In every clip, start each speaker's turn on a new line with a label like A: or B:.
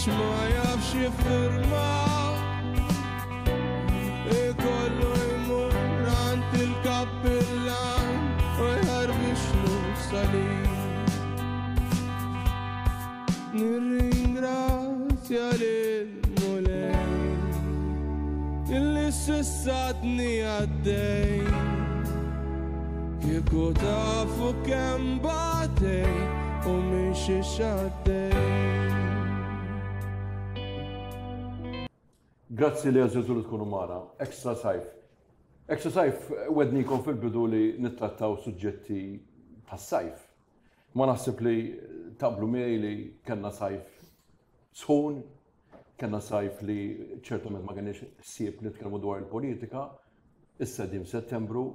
A: Għax ma jafx jiffirma Ikollu jmur għand il-kappillan U jħarbixlu salib Nirringrazzja lil Mulej Illi s'issa għadni għaddej Kieku tafu kemm batej U minn xiex għaddej.
B: Grazzi li għażiltu li tkunu magħna. Extra Sajf. Extra Sajf wednikom fil-bidu li nittrattaw suġġetti tas-sajf. Ma naħseb li taqblu miegħi li kellna sajf sħun, kellna sajf li ċertament ma kenniex ħsieb nitkellmu dwar il-politika, issa qegħdin f'Settembru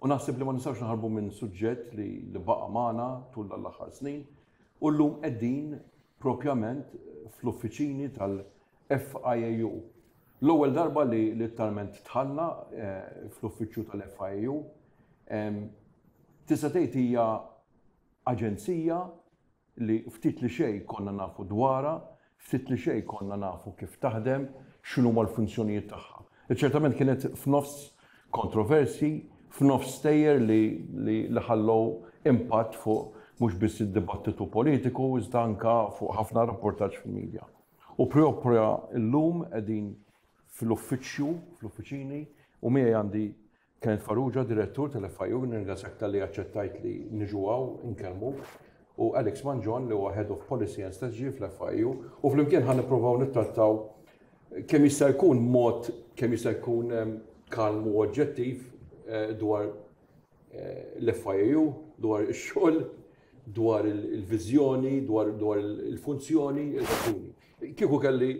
B: u naħseb li ma nistgħux naħarbu minn suġġett li li baqa' magħna tul dan l-aħħar snin u llum qegħdin propjament fl-uffiċini tal-FIAU. L-ewwel darba li litteralment dħalna eh, fl-uffiċċju tal-FIAU, tista' tgħid hija aġenzija li ftit li xejn konna nafu dwarha, ftit li xejn konna nafu kif taħdem, x'inhuma l-funzjonijiet tagħha. Li ċertament kienet f'nofs kontroversji, f'nofs stejjer li li ħallew impatt fuq mhux biss id-dibattitu politiku iżda anke fuq ħafna rapportaġġ fil-media. U proprja llum qegħdin fl-uffiċċju, fl-uffiċini, u miegħi għandi Kenneth Farrugia, Direttur tal-FIU, nirringrazzjak talli aċċettajt li niġu hawn inkellmuk, u Alex Mangion li huwa Head of Policy and Strategy fl-FIU, u flimkien ħa nipprovaw nittrattaw kemm jista' jkun mod kemm jista' jkun ehm, kalm u oġġettiv eh, dwar eh, l-FIU, dwar ix-xogħol, dwar il-viżjoni, dwar il-funzjoni, il-raġuni. Kieku kelli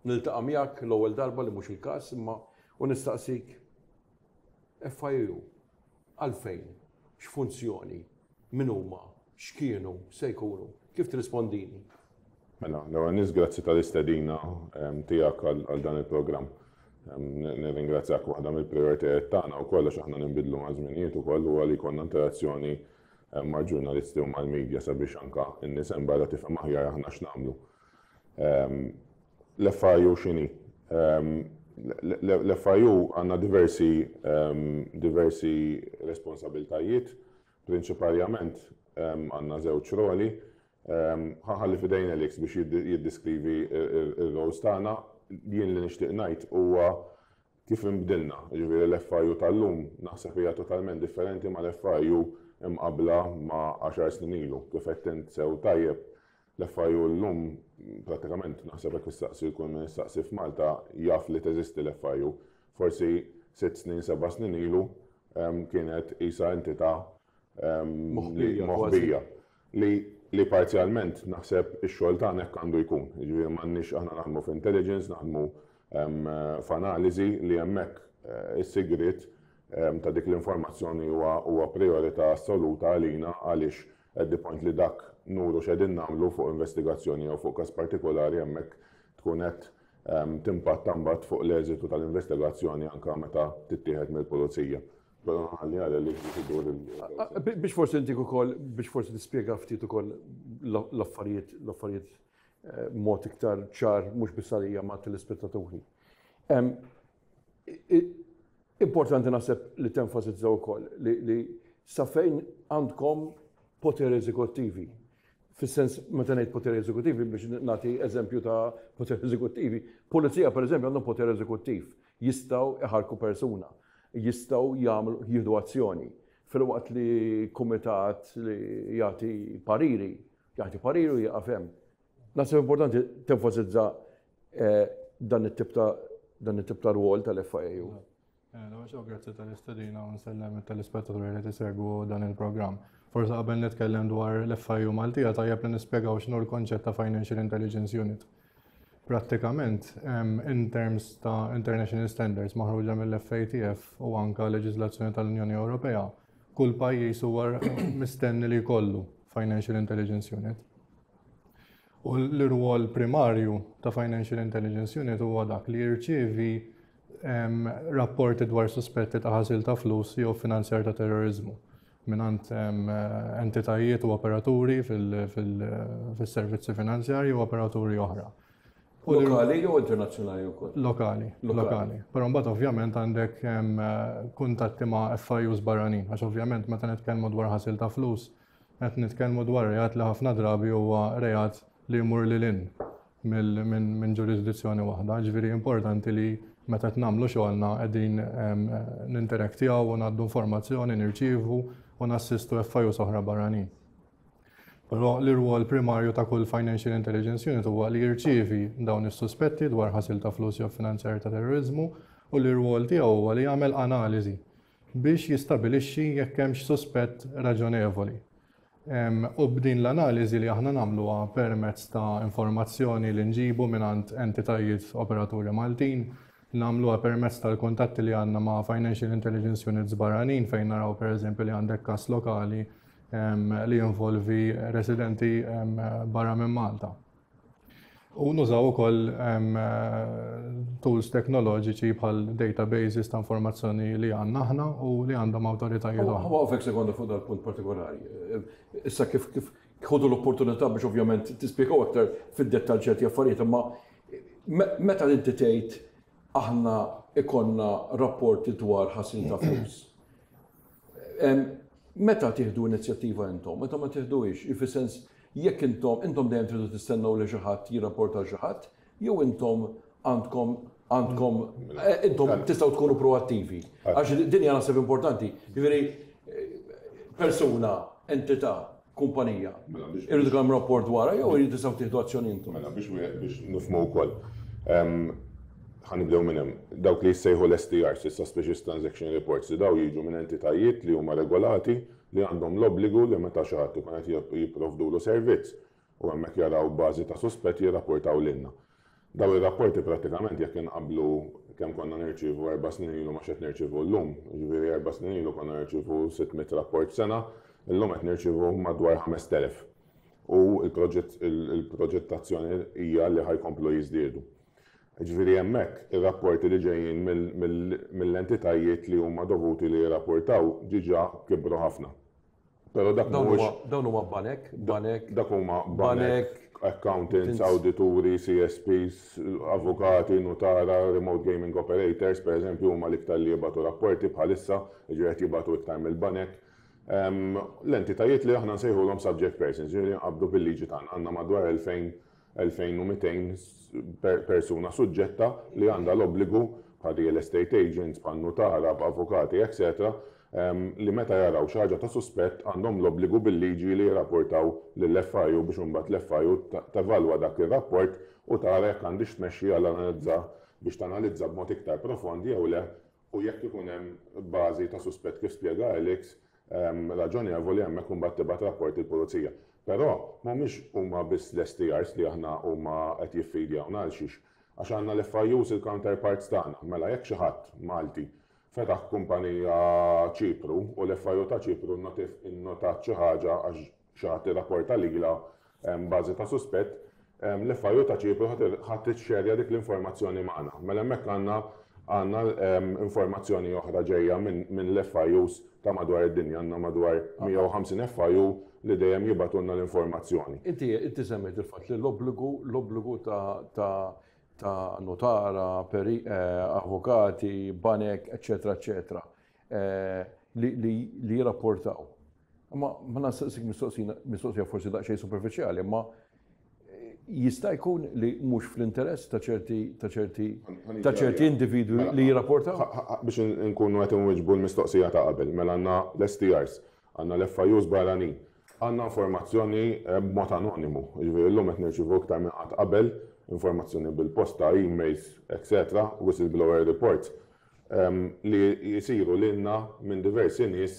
B: Niltaqa' miegħek l-ewwel darba li mhux il-każ imma u nistaqsik FIU, għalfejn, x'funzjoni, min huma, x'kienu, x'se jkunu, kif tirrispondini?
C: Mela, l-ewwel nett grazzi tal-istedina tiegħek għal dan il-programm. Nirringrazzjak waħda mill-prijoritajiet tagħna wkoll għax aħna ninbidlu maż-żminijiet ukoll huwa li jkollna interazzjoni mal-ġurnalisti u mal-media sabiex anke n-nies hemm barra tifhem aħjar aħna x'nagħmlu. L-FIU x'inhi? L-FIU għandna diversi diversi responsabiltajiet, prinċiparjament għandna żewġ roli. Ħa nħalli f'idejn Alex biex jiddiskrivi r-roles tagħna. Jien li nixtieq ngħid huwa kif inbdilna. Jiġifieri l-FIU tal-lum naħseb hija totalment differenti mal-FIU imqabbla ma' għaxar snin ilu. Kif għedt int sew tajjeb, l-FIU llum prattikament naħseb jekk issaqsi kull min issaqsi f'Malta jaf li teżisti l-FIU. Forsi sitt snin, seba' snin ilu kienet qisha entità moħbija. Li li parzjalment naħseb ix-xogħol tagħna hekk għandu jkun. Jiġifieri m'għandniex aħna naħdmu f'intelligence, naħdmu f'analiżi li hemmhekk is-sigriet ta' dik l-informazzjoni huwa prijorità assoluta għalina għaliex at the point li dak nuru x'qegħdin nagħmlu fuq investigazzjoni jew fuq każ partikolari hemmhekk tkun qed timpatta mbagħad fuq l-eżitu tal-investigazzjoni anke meta tittieħed mill-pulizija. Però nħalli għal li biex idur il-
B: Biex forsi intik ukoll biex forsi tispjega ftit ukoll l-affarijiet l-affarijiet eh, mod iktar ċar mhux biss għalija ma' telespettaturi. Importanti naħseb li tenfasizza wkoll li sa fejn għandkom poteri eżekuttivi. Fis-sens meta ngħid poteri eżekuttivi biex nagħti eżempju ta' poteri eżekuttivi, pulizija pereżempju għandhom poter eżekuttiv, jistgħu iħarku persuna, jistgħu jagħmlu jieħdu azzjoni. Filwaqt li kumitat li jagħti pariri, jagħti pariri u jieqaf hemm. Naħseb importanti tenfasizza eh, dan it-tip ta' dan it-tip ta' rwol tal-FIAU.
D: Eh, grazzi tal-istedina u nsellem tal-ispettaturi li tisegwu dan il-programm. Forse qabel nitkellem dwar l-FIU Maltija tajjeb li nispjegaw x'inhu l-konċett ta' Financial Intelligence Unit. Prattikament, in terms ta' international standards maħruġa mill-FATF u anka leġiżlazzjoni tal-Unjoni Ewropea, kull pajjiż huwa mistenni li jkollu Financial Intelligence Unit. U l-irwol primarju ta' Financial Intelligence Unit huwa dak li jirċievi rapporti dwar suspetti ta' ħasil ta' flus jew finanzjar ta' terrorizmu mingħand entitajiet u operaturi fis-servizzi finanzjarji u operaturi oħra.
B: Lokali jew internazzjonali wkoll?
D: Lokali, lokali. Però mbagħad ovvjament għandek kuntatti ma' FIUs barranin, għax ovvjament meta nitkellmu dwar ħasil ta' flus, qed nitkellmu dwar reat li ħafna drabi huwa reat li jmur lil hinn minn ġurisdizzjoni waħda. Ġifieri importanti li meta qed nagħmlu xogħolna qegħdin ninteraktjaw u ngħaddu informazzjoni, nirċievu u nassistu FIUs oħra barranin. Però l-irwol primarju ta' kull Financial Intelligence Unit huwa li jirċievi dawn is-suspetti dwar ħasil ta' flus jew finanzjar ta' terroriżmu u l-irwol tiegħu huwa li jagħmel analiżi biex jistabilixxi jekk hemmx suspett raġonevoli. U b'din l-analiżi li aħna nagħmluha permezz ta' informazzjoni li nġibu mingħand entitajiet operaturi Maltin, nagħmluha permezz tal-kuntatti li għandna ma' Financial Intelligence Units barranin fejn naraw pereżempju li għandek każ lokali li jinvolvi residenti barra minn Malta. U nużaw ukoll tools teknoloġiċi bħal databases ta' informazzjoni li għandna aħna u li għandhom awtoritajiet oħra.
B: Waqfek sekonda fuq dal-punt partikolari. Issa kif kif ħodu l-opportunità biex ovvjament tispjegaw aktar fid-dettall ċerti affarijiet, imma meta inti tgħid aħna ikonna rapporti dwar ħasil ta' flus. Meta tieħdu inizjattiva intom, meta ma tieħduhiex, fis-sens jekk intom, intom dejjem tridu tistennew li xi ħadd jirrapporta lil xi ħadd, jew intom għandkom għandkom intom tistgħu tkunu proattivi. Għax din hija naħseb importanti. Jiġifieri persuna, entità, kumpanija, irridu kemm rapport dwarha jew irridu tistgħu tieħdu azzjoni intom.
C: Mela biex biex nifhmu wkoll. Ħa nibdew minn hemm. Dawk li jissejħu l-STRs, is-Suspicious Transaction Reports, li daw jiġu minn entitajiet li huma regolati li għandhom l-obbligu li meta xi ħadd ikun qed jipprovdulu servizz u hemmhekk jaraw bażi ta' suspett jirrapportaw lilna. Daw ir-rapporti prattikament jekk inqabblu kemm konna nirċievu 4 snin ilu ma' x'qed nirċievu llum, jiġifieri 4 snin ilu konna nirċievu 600 rapport sena, illum qed nirċievu madwar 5000. U il-proġettazzjoni hija li ħa jkomplu jiżdiedu. Ġifieri hemmhekk ir-rapporti li ġejjin mill-entitajiet li huma dovuti li jirrapportaw diġà kibru ħafna.
B: Però dak mhuwiex. Dawn huma banek, banek.
C: Dak huma banek, accountants, awdituri, CSPs, avukati, nutara, remote gaming operators, per eżempju, huma l-iktar li jibagħtu rapporti bħalissa, ġifieri qed jibagħtu iktar mill-banek. L-entitajiet li aħna nsejħulhom subject persons, ġifieri nqabdu bil-liġi tagħna, għandna madwar 2000 2200 persuna suġġetta li għandha l-obbligu bħal real estate agents, bħal nutara, avukati, etc., li meta jaraw xi ħaġa ta' suspett għandhom l-obbligu bil-liġi li jirrapportaw lill-FIU biex imbagħad l-FIU tevalwa dak ir-rapport u tara jekk għandix tmexxi għal analizza biex tanalizza b'mod iktar profond jew le u jekk ikun hemm bażi ta' suspett, kif spjega Alex, raġonevoli, hemmhekk imbagħad tibgħat rapport il-pulizija. Però mhumiex huma biss l-STRs li aħna huma qed jiffidjawna. Għal xiex? Għax għandna l-FIUs, il-counterparts tagħna. Mela jekk xi ħadd Malti fetaħ kumpanija Ċipru u l-FIU ta' Ċipru innotat xi ħaġa għax xi ħadd irrapporta lilha bażi ta' suspett, l-FIU ta' Ċipru ħa tixxerja dik l-informazzjoni magħna. Mela hemmhekk għandna informazzjoni oħra ġejja minn l-FIUs ta' madwar id-dinja, għandna madwar 150 FIU li dejjem jibagħtulna l-informazzjoni.
B: Inti semmejt il-fatt li l-obbligu ta' notara, avukati, banek, eccetera, eccetera, li jirrapportaw. Ma ma nistaqsik mistoqsija forsi daqsxejn superfiċjali, ma jista' jkun li mhux fl-interess ta' ċerti individwi
C: mela,
B: li jirrapportaw?
C: Biex nkunu qed inwiġbu l-mistoqsija ta' qabel, mela għandna l-STRs, għandna l-FIUs barranin, għandna informazzjoni b'mod anonimu, ġifieri llum qed nirċievu iktar minn qatt qabel informazzjoni bil-posta, emails, etc., whistleblower reports, li jisiru lilna minn diversi nies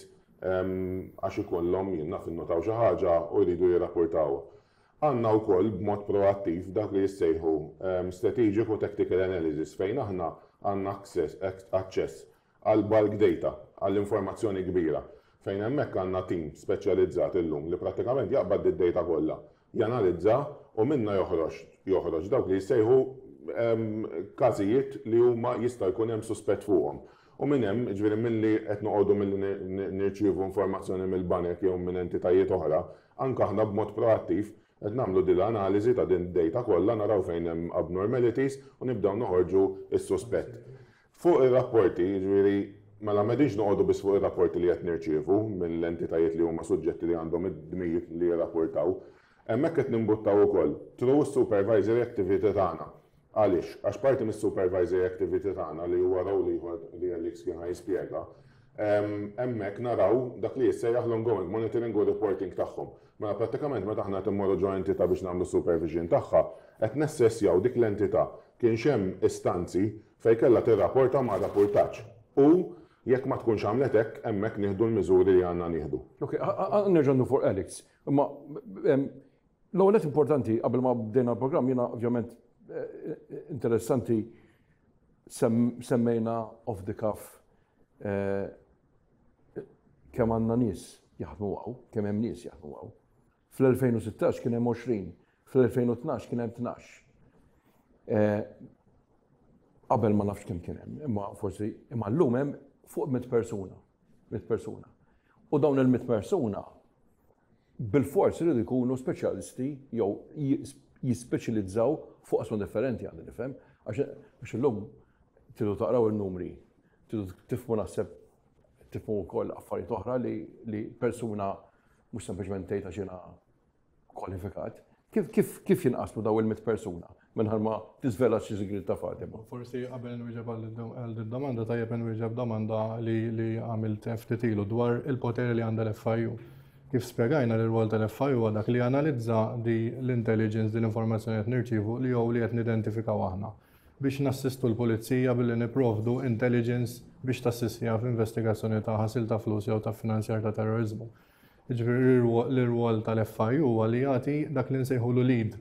C: għax ikollhom jien naf innotaw xi ħaġa u jridu jirrapportaw. Għandna wkoll b'mod proattiv dak li jissejħu strategic u tactical analysis fejn aħna għandna aċċess għal bulk data, għall informazzjoni kbira, fejn hemmhekk għandna team speċjalizzat illum li prattikament jaqbad id-data kollha, janalizza u minna joħroġ dawk li jissejħu każijiet li huma jista' jkun hemm suspett fuqhom. U minn hemm, ġifieri milli qed noqogħdu milli nirċievu informazzjoni mill-banek jew minn entitajiet oħra, anke aħna b'mod proattiv. Qed nagħmlu din l-analiżi ta' din id-data kollha, naraw fejn hemm abnormalities u nibdew noħorġu s-suspett. Fuq ir-rapporti, jiġifieri, mela m'qegħdinx noqogħdu biss fuq ir-rapporti li qed nirċievu mill-entitajiet li huma suġġetti li għandhom id-dmir li jirrapportaw. Hemmhekk qed nimbuttaw ukoll through is-supervisory activity tagħna. Għaliex? Għax parti mis-supervisory activity tagħna li huwa role ieħor li Alex kien ħa jispjega, hemmhekk naraw dak li jissejjaħ l-ongoing monitoring u reporting tagħhom. Mela prattikament meta aħna qed immorru ġo entità biex nagħmlu supervision tagħha, qed nessessjaw dik l-entità kienx hemm istanzi fejn kellha tirrapporta ma rrapportatx. U jekk ma tkunx għamlet hekk, hemmhekk nieħdu l-miżuri li għandna nieħdu.
B: Ok, nerġa' ndur fuq Alex. Imma L-ewwel nett importanti qabel ma bdejna l-programm jiena ovvjament interessanti semmejna off the cuff kemm għandna nies jaħdmu hawn, kemm hemm nies jaħdmu hawn. Fl-2016 kien hemm 20, fl-2012 kien hemm 12. Qabel ma nafx kemm kien hemm, imma forsi imma llum hemm fuq 100 persuna, 100 persuna. U dawn il-100 persuna bilfors iridu jkunu speċjalisti jew jispeċjalizzaw fuq qasma differenti għandi nifhem, għax illum tridu taqraw in-numri, tridu tifhmu naħseb tifhmu wkoll affarijiet oħra li persuna mhux sempliċement tgħid għax jiena kwalifikat. Kif, kif, kif jinqasmu daw il-mit persuna mingħajr ma tiżvela xi sigriet ta' Fatima?
D: Forsi qabel nwieġeb għal din domanda tajjeb nwieġeb domanda li li għamilt ftit ilu dwar il-poteri li għandha l-FIU. Kif spjegajna li r-rwol tal-FIU huwa dak li janalizza di l-intelligence, di l-informazzjoni qed nirċievu li jew li qed nidentifikaw aħna biex nassistu l-pulizija billi nipprovdu intelligence biex tassistiha f'investigazzjoni ta' ħasil ta' flus jew ta' finanzjar ta' terroriżmu. Jiġifieri l-irwol tal-FIU huwa li jagħti dak li nsejħulu lead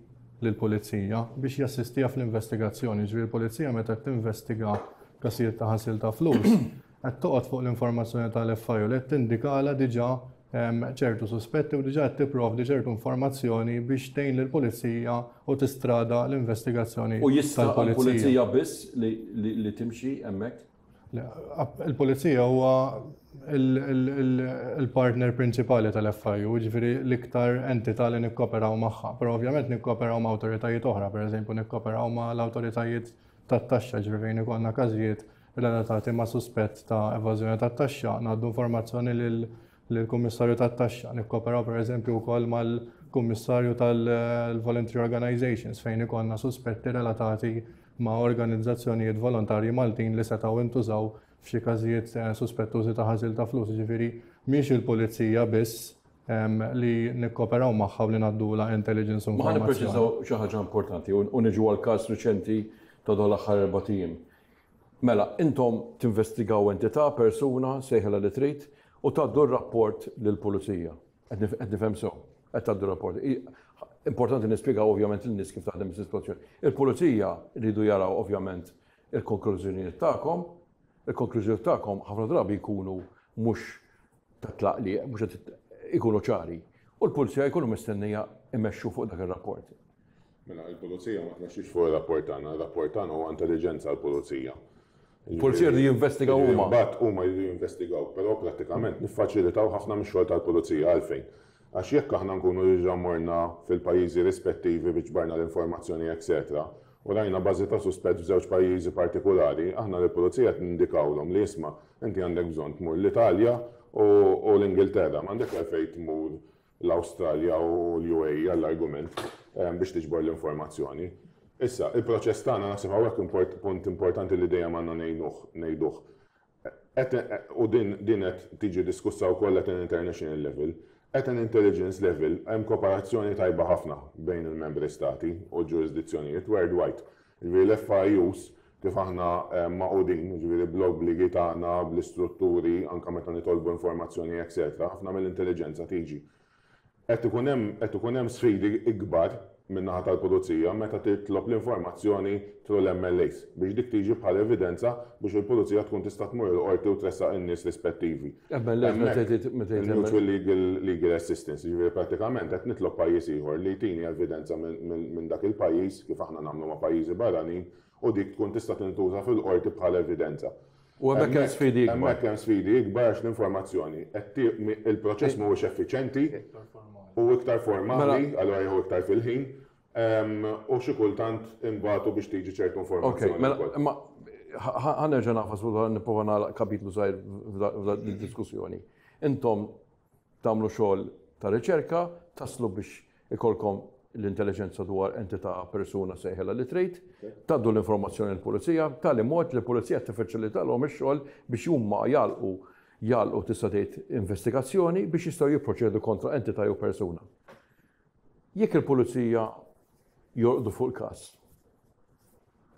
D: lill-pulizija biex jassistiha fl-investigazzjoni. Jiġifieri l-pulizija meta qed tinvestiga każijiet ta' ħasil ta' flus, qed toqgħod fuq l-informazzjoni tal-FIU li qed tindikalha diġà ehm, ċertu suspetti u diġà qed tipprovdi ċertu informazzjoni biex tgħin lill-pulizija u tistrada l-investigazzjoni.
B: U jista' l-pulizija biss li timxi hemmhekk?
D: Il-pulizija huwa il-partner prinċipali tal-FIU, ġifieri l-iktar entità li nikkoperaw magħha. Però ovvjament nikkoperaw ma' awtoritajiet oħra, pereżempju nikkoperaw ma' l-awtoritajiet tat-taxxa, ġifieri fejn ikollna każijiet relatati ma' suspett ta' evażjoni tat-taxxa, ngħaddu informazzjoni lill-Kummissarju tat-Taxxa. Nikkoperaw pereżempju wkoll mal-Kummissarju tal-Voluntary Organizations fejn ikollna suspetti relatati ma' organizzazzjonijiet volontarji Maltin li setgħu intużaw f'xi każijiet suspettużi ta' ħasil ta' flus. Jiġifieri mhix il-pulizija biss li nikkoperaw magħha u li ngħaddulha intelligence u
B: Ma ħa nippreċiżaw xi ħaġa importanti u niġu għall-każ riċenti ta' dawn l-aħħar erbat ijiem. Mela, intom tinvestigaw entità, persuna, sejħilha li trid, u tgħaddu r-rapport lill-pulizija. Qed nifhem sew, qed tgħaddu rapport. Importanti nispjegaw ovvjament lin-nies kif taħdem is-sitwazzjoni. Il-pulizija rridu jaraw ovvjament il-konklużjonijiet tagħkom, il-konklużjonijiet tagħkom ħafna drabi jkunu mhux ta' tlaqliq, mhux qed ikunu ċari. U l-pulizija jkunu mistennija imexxu fuq dak ir-rapport.
C: Mela, il-pulizija ma tmexxix fuq ir-rapport tagħna, ir-rapport tagħna huwa intelliġenza għall-pulizija.
B: Il-pulizija jridu jinvestigaw huma.
C: Imbagħad huma jridu jinvestigaw, però prattikament niffaċilitaw ħafna mix-xogħol tal-pulizija għalfejn? Għax jekk aħna nkunu diġà morna fil-pajjiżi rispettivi biex ġbarna l-informazzjoni etc. U rajna bażi ta' suspett f'żewġ pajjiżi partikulari, aħna lill-pulizija qed nindikawlhom li isma' inti għandek bżonn tmur l-Italja u l-Ingilterra, m'għandekx għalfejn tmur l-Awstralja u l-UAE għall-argument biex tiġbor l-informazzjoni. Issa, il-proċess tagħna naħseb hawnhekk punt importanti li dejjem għandna ngħinuh, ngħiduh. U din din qed tiġi diskussa wkoll at an international level. At an intelligence level hemm kooperazzjoni tajba ħafna bejn il-membri stati u l-ġurisdizzjonijiet worldwide. Jiġifieri l-FIUs kif aħna magħqudin, jiġifieri bl-obbligi tagħna, bl-istrutturi, anke meta nitolbu informazzjoni etc., ħafna mill-intelliġenza tiġi. Qed ikun hemm qed ikun hemm sfidi ikbar min-naħa tal-pulizija meta titlob l-informazzjoni through l-MLAs biex dik tiġi bħala evidenza biex il-pulizija tkun tista' tmur il-qorti u tressaq in-nies rispettivi.
B: MLAs meta tgħid meta tgħid
C: Il-Mutual Legal Legal Assistance, jiġifieri prattikament qed nitlob pajjiż ieħor li jtini evidenza minn dak il-pajjiż, kif aħna nagħmlu ma' pajjiżi barranin, u dik tkun tista' tintuża fil-qorti bħala evidenza.
B: U hemmhekk hemm sfidi ikbar.
C: Hemmhekk hemm sfidi ikbar għax l-informazzjoni qed il-proċess mhuwiex effiċjenti.
D: Iktar formali.
C: U iktar formali, allura jieħu iktar fil-ħin, u xi kultant inbagħtu biex tiġi ċertu informazzjoni.
B: Ok, mela, imma ħa nerġa' nagħfas u nipprova nagħlaq kapitlu żgħir f'dan id-diskussjoni. Intom tagħmlu xogħol ta' riċerka, taslu biex ikollkom l-intelliġenza dwar entità, persuna, sejħilha li trid, tgħaddu l-informazzjoni lill-pulizija, b'tali mod li l-pulizija tiffaċilitalhom ix-xogħol biex huma jagħlqu jagħlqu tista' tgħid investigazzjoni biex jistgħu jipproċedu kontra entità jew persuna. Jekk il-pulizija jorqdu fuq il-każ,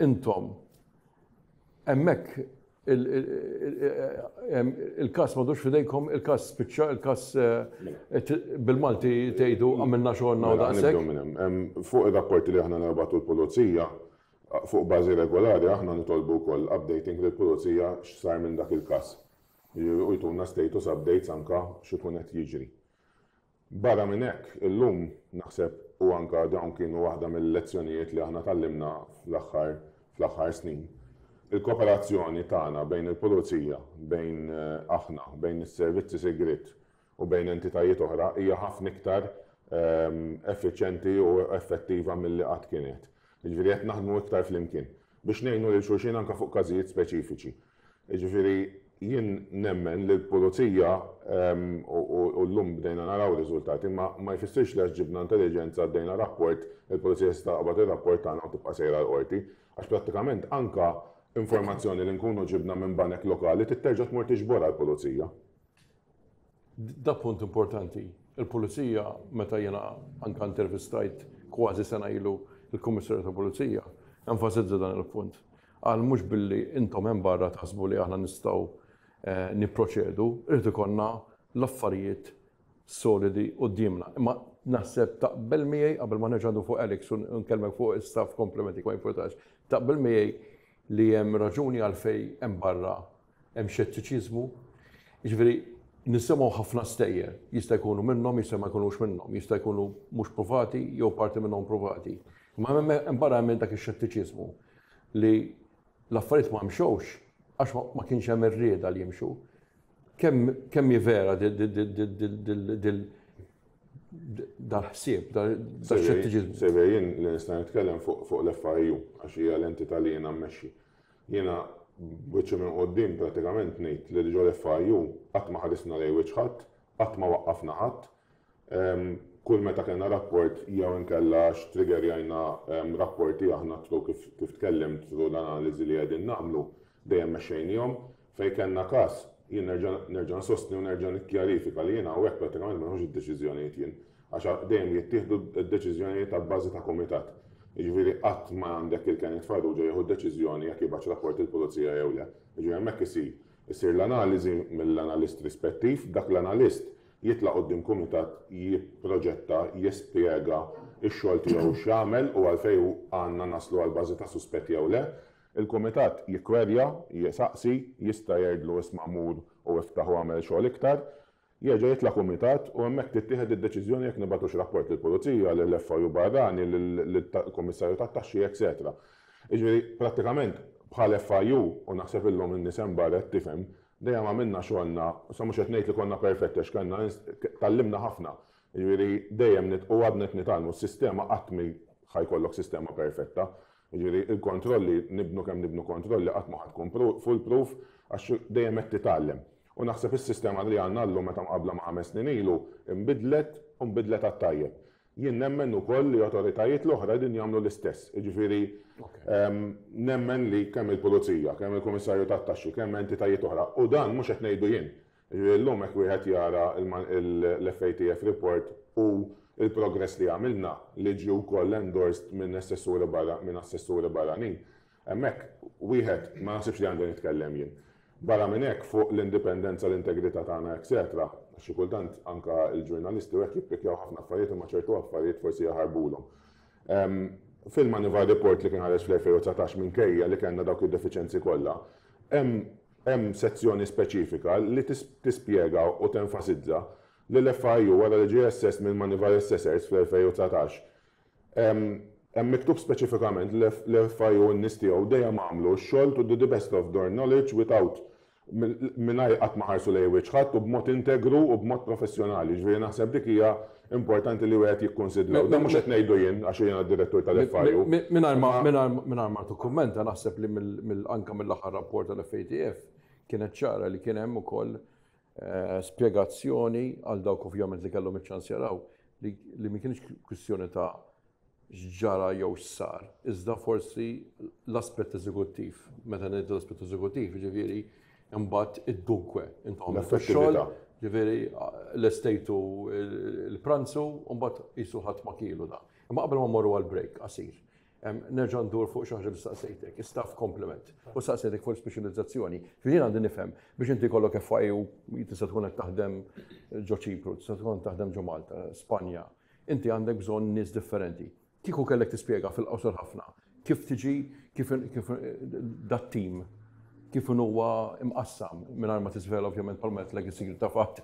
B: intom hemmhekk il-każ m'għadux f'idejkom, il-każ spiċċa, il-każ bil-Malti tgħidu għamilna xogħolna u
C: mela,
B: daqshekk.
C: Fuq ir-rapporti li aħna nibagħtu l-pulizija, fuq bażi regolari aħna nitolbu wkoll updating lill-pulizija x'sar minn dak il-każ. U jtuna status updates anka x'ikun qed jiġri. Barra minn hekk, illum naħseb u anke dawn kienu waħda mill-lezzjonijiet li aħna tgħallimna fl-aħħar fl-aħħar snin, il-kooperazzjoni tagħna bejn il-Pulizija, bejn aħna, bejn is-servizzi sigriet u bejn entitajiet oħra hija ħafna iktar effiċjenti u effettiva milli qatt kienet. Jiġifieri qed naħdmu iktar flimkien biex ngħinu lil xulxin anke fuq każijiet speċifiċi. Jiġifieri jien nemmen li l-pulizija u llum bdejna naraw riżultati, ma ma jfissirx li għax ġibna intelliġenza għaddejna rapport, il-pulizija se taqbad ir-rapport tagħna u tibqa' sejra l-qorti. Għax prattikament anke informazzjoni li nkunu ġibna minn banek lokali trid terġa' tmur tiġborha l-pulizija.
B: Da punt importanti. Il-pulizija, meta jiena anke intervistajt kważi sena ilu il-Kummissarju tal-Pulizija, enfasizza dan il-punt. Qal mhux billi intom hemm barra taħsbu li aħna nistgħu nipproċedu, irid ikollna l-affarijiet solidi quddiemna. Imma naħseb taqbel miegħi qabel ma nerġa' fuq Alex u nkellmek fuq is-staff complement ma jimpurtax. Taqbel miegħi li hemm raġuni għalfejn hemm barra hemm xettiċiżmu. Jiġifieri nisimgħu ħafna stejjer, jista' jkunu minnhom, jista' ma jkunux minnhom, jista' jkunu mhux provati jew parti minnhom provati. Imma hemm barra hemm dak ix-xettiċiżmu li l-affarijiet ma mxewx għax ma kienx hemm ir-rieda li jimxu. Kemm hi vera dal-ħsieb, dal-xettiċiżmu?
C: Sebe, jien li nista' nitkellem fuq l-FIU għax hija l-entità li jiena mmexxi. Jiena b'wiċċi minn quddiem prattikament ngħid li ġo l-FIU qatt ma ħarisna lejn wiċċ ħadd, qatt ma waqqafna ħadd. Kull meta kellna rapport jew inkella x'triggerjajna rapporti aħna through kif kif tkellimt through l-analiżi li qegħdin nagħmlu, dejjem mexxejniehom. Fejn kellna każ, jien nerġa' nerġa' nsostni u nerġa' nikkjarifika li jiena hawnhekk prattikament ma nieħux id-deċiżjonijiet jien. Għax dejjem jittieħdu d-deċiżjonijiet abbażi ta' kumitat. Jiġifieri qatt ma għandek il Kenneth Farrugia jieħu d-deċiżjoni jekk jibgħatx rapport lill-Pulizija jew le. Jiġifieri hemmhekk isir issir l-analiżi mill-analist rispettiv, dak l-analist jitla' quddiem kumitat jipproġetta, jispjega x-xogħol tiegħu x'għamel u għalfejn għandna naslu għal bażi ta' suspett jew le. Il-kumitat jikkwerja, jsaqsi, jista' jgħidlu isma' mur u iftaħ u agħmel xogħol iktar. Jerġa' jitla' kumitat u hemmhekk tittieħed id-deċiżjoni jekk nibagħtux rapport lill-Pulizija, lill-FIU barrani, lill-Kummissarju tat-Taxxi, etcetera. Jiġifieri, prattikament, bħal FIU, u naħseb illum in-nies hemm barra qed tifhem, dejjem għamilna xogħolna, issa mhux qed ngħid li konna perfetti għax kellna tgħallimna ħafna. Jiġifieri, dejjem u għadna qed nitgħallmu, s-sistema qatt mhi ħa jkollok sistema perfetta. Jiġifieri, il-kontrolli, nibnu kemm nibnu kontrolli qatt ma ħa tkun foolproof għax dejjem qed titgħallem. U naħseb is-sistema li għandna llum meta mqabbla ma' 5 snin ilu nbidlet u nbidlet għat-tajjeb. Jien nemmen ukoll li awtoritajiet l-oħra qegħdin jagħmlu l-istess. Jiġifieri nemmen li kemm il-Pulizija, kemm il-Kummissarju tat-Taxxi, kemm entitajiet oħra, u dan mhux qed ngħidu jien. Jiġifieri llum hekk wieħed jara l-FATF report u l-progress li għamilna li ġie wkoll endorsed minn assessuri barra minn assessuri barranin, Hemmhekk wieħed ma naħsibx li għandi nitkellem jien. Barra minn hekk fuq l-indipendenza, l-integrità tagħna etc. Xi kultant anke l-ġurnalisti u hekk jippikkjaw ħafna affarijiet imma ċertu affarijiet forsi jaħarbulhom. Fil-Moneyval Report li kien ħareġ fl-2019 minkejja li kellna dawk id-defiċenzi kollha, hemm hemm sezzjoni speċifika li tispjega u tenfasizza li l-FIU wara li ġie assessed mill-Moneyval Assessors fl-2019 Hemm miktub speċifikament li l-FIU u n-nies tiegħu dejjem għamlu x-xogħol to the best of their knowledge without mingħajr qatt ma ħarsu lejn wiċċ ħadd u b'mod integru u b'mod professjonali. Ġifieri naħseb dik hija importanti li wieħed jikkunsidra. U dan mhux qed ngħidu jien għax jiena d-direttur tal-FIU.
B: Mingħajr ma tikkummenta, naħseb li anke mill-aħħar rapport tal-FATF kienet ċara li kien hemm ukoll spjegazzjoni għal dawk ovvjament li kellhom iċ-ċans jaraw li ma kienx kwistjoni ta' x'ġara jew x'sar, iżda forsi l-aspett eżekuttiv. Meta ngħidu l-aspett eżekuttiv, ġifieri imbagħad id-dunkwe, intom
C: xogħol,
B: ġifieri l-estejtu il-pranzu, u mbagħad qisu ħadd ma kielu da. Imma qabel ma mmorru għal break qasir, nerġa' ndur fuq xi ħaġa li staqsejtek, staff complement, u staqsejtek fuq speċjalizzazzjoni. Jien għandi nifhem biex inti jkollok FIU, tista' tkun qed taħdem ġo Ċipru, tista' tkun taħdem ġo Malta, Spanja, inti għandek bżonn nies differenti. Kieku kellek tispjega fil-qosor ħafna kif tiġi kif dat team kif huwa imqassam mingħajr ma tiżvela ovvjament bħalma qed is-sigriet ta' fatt.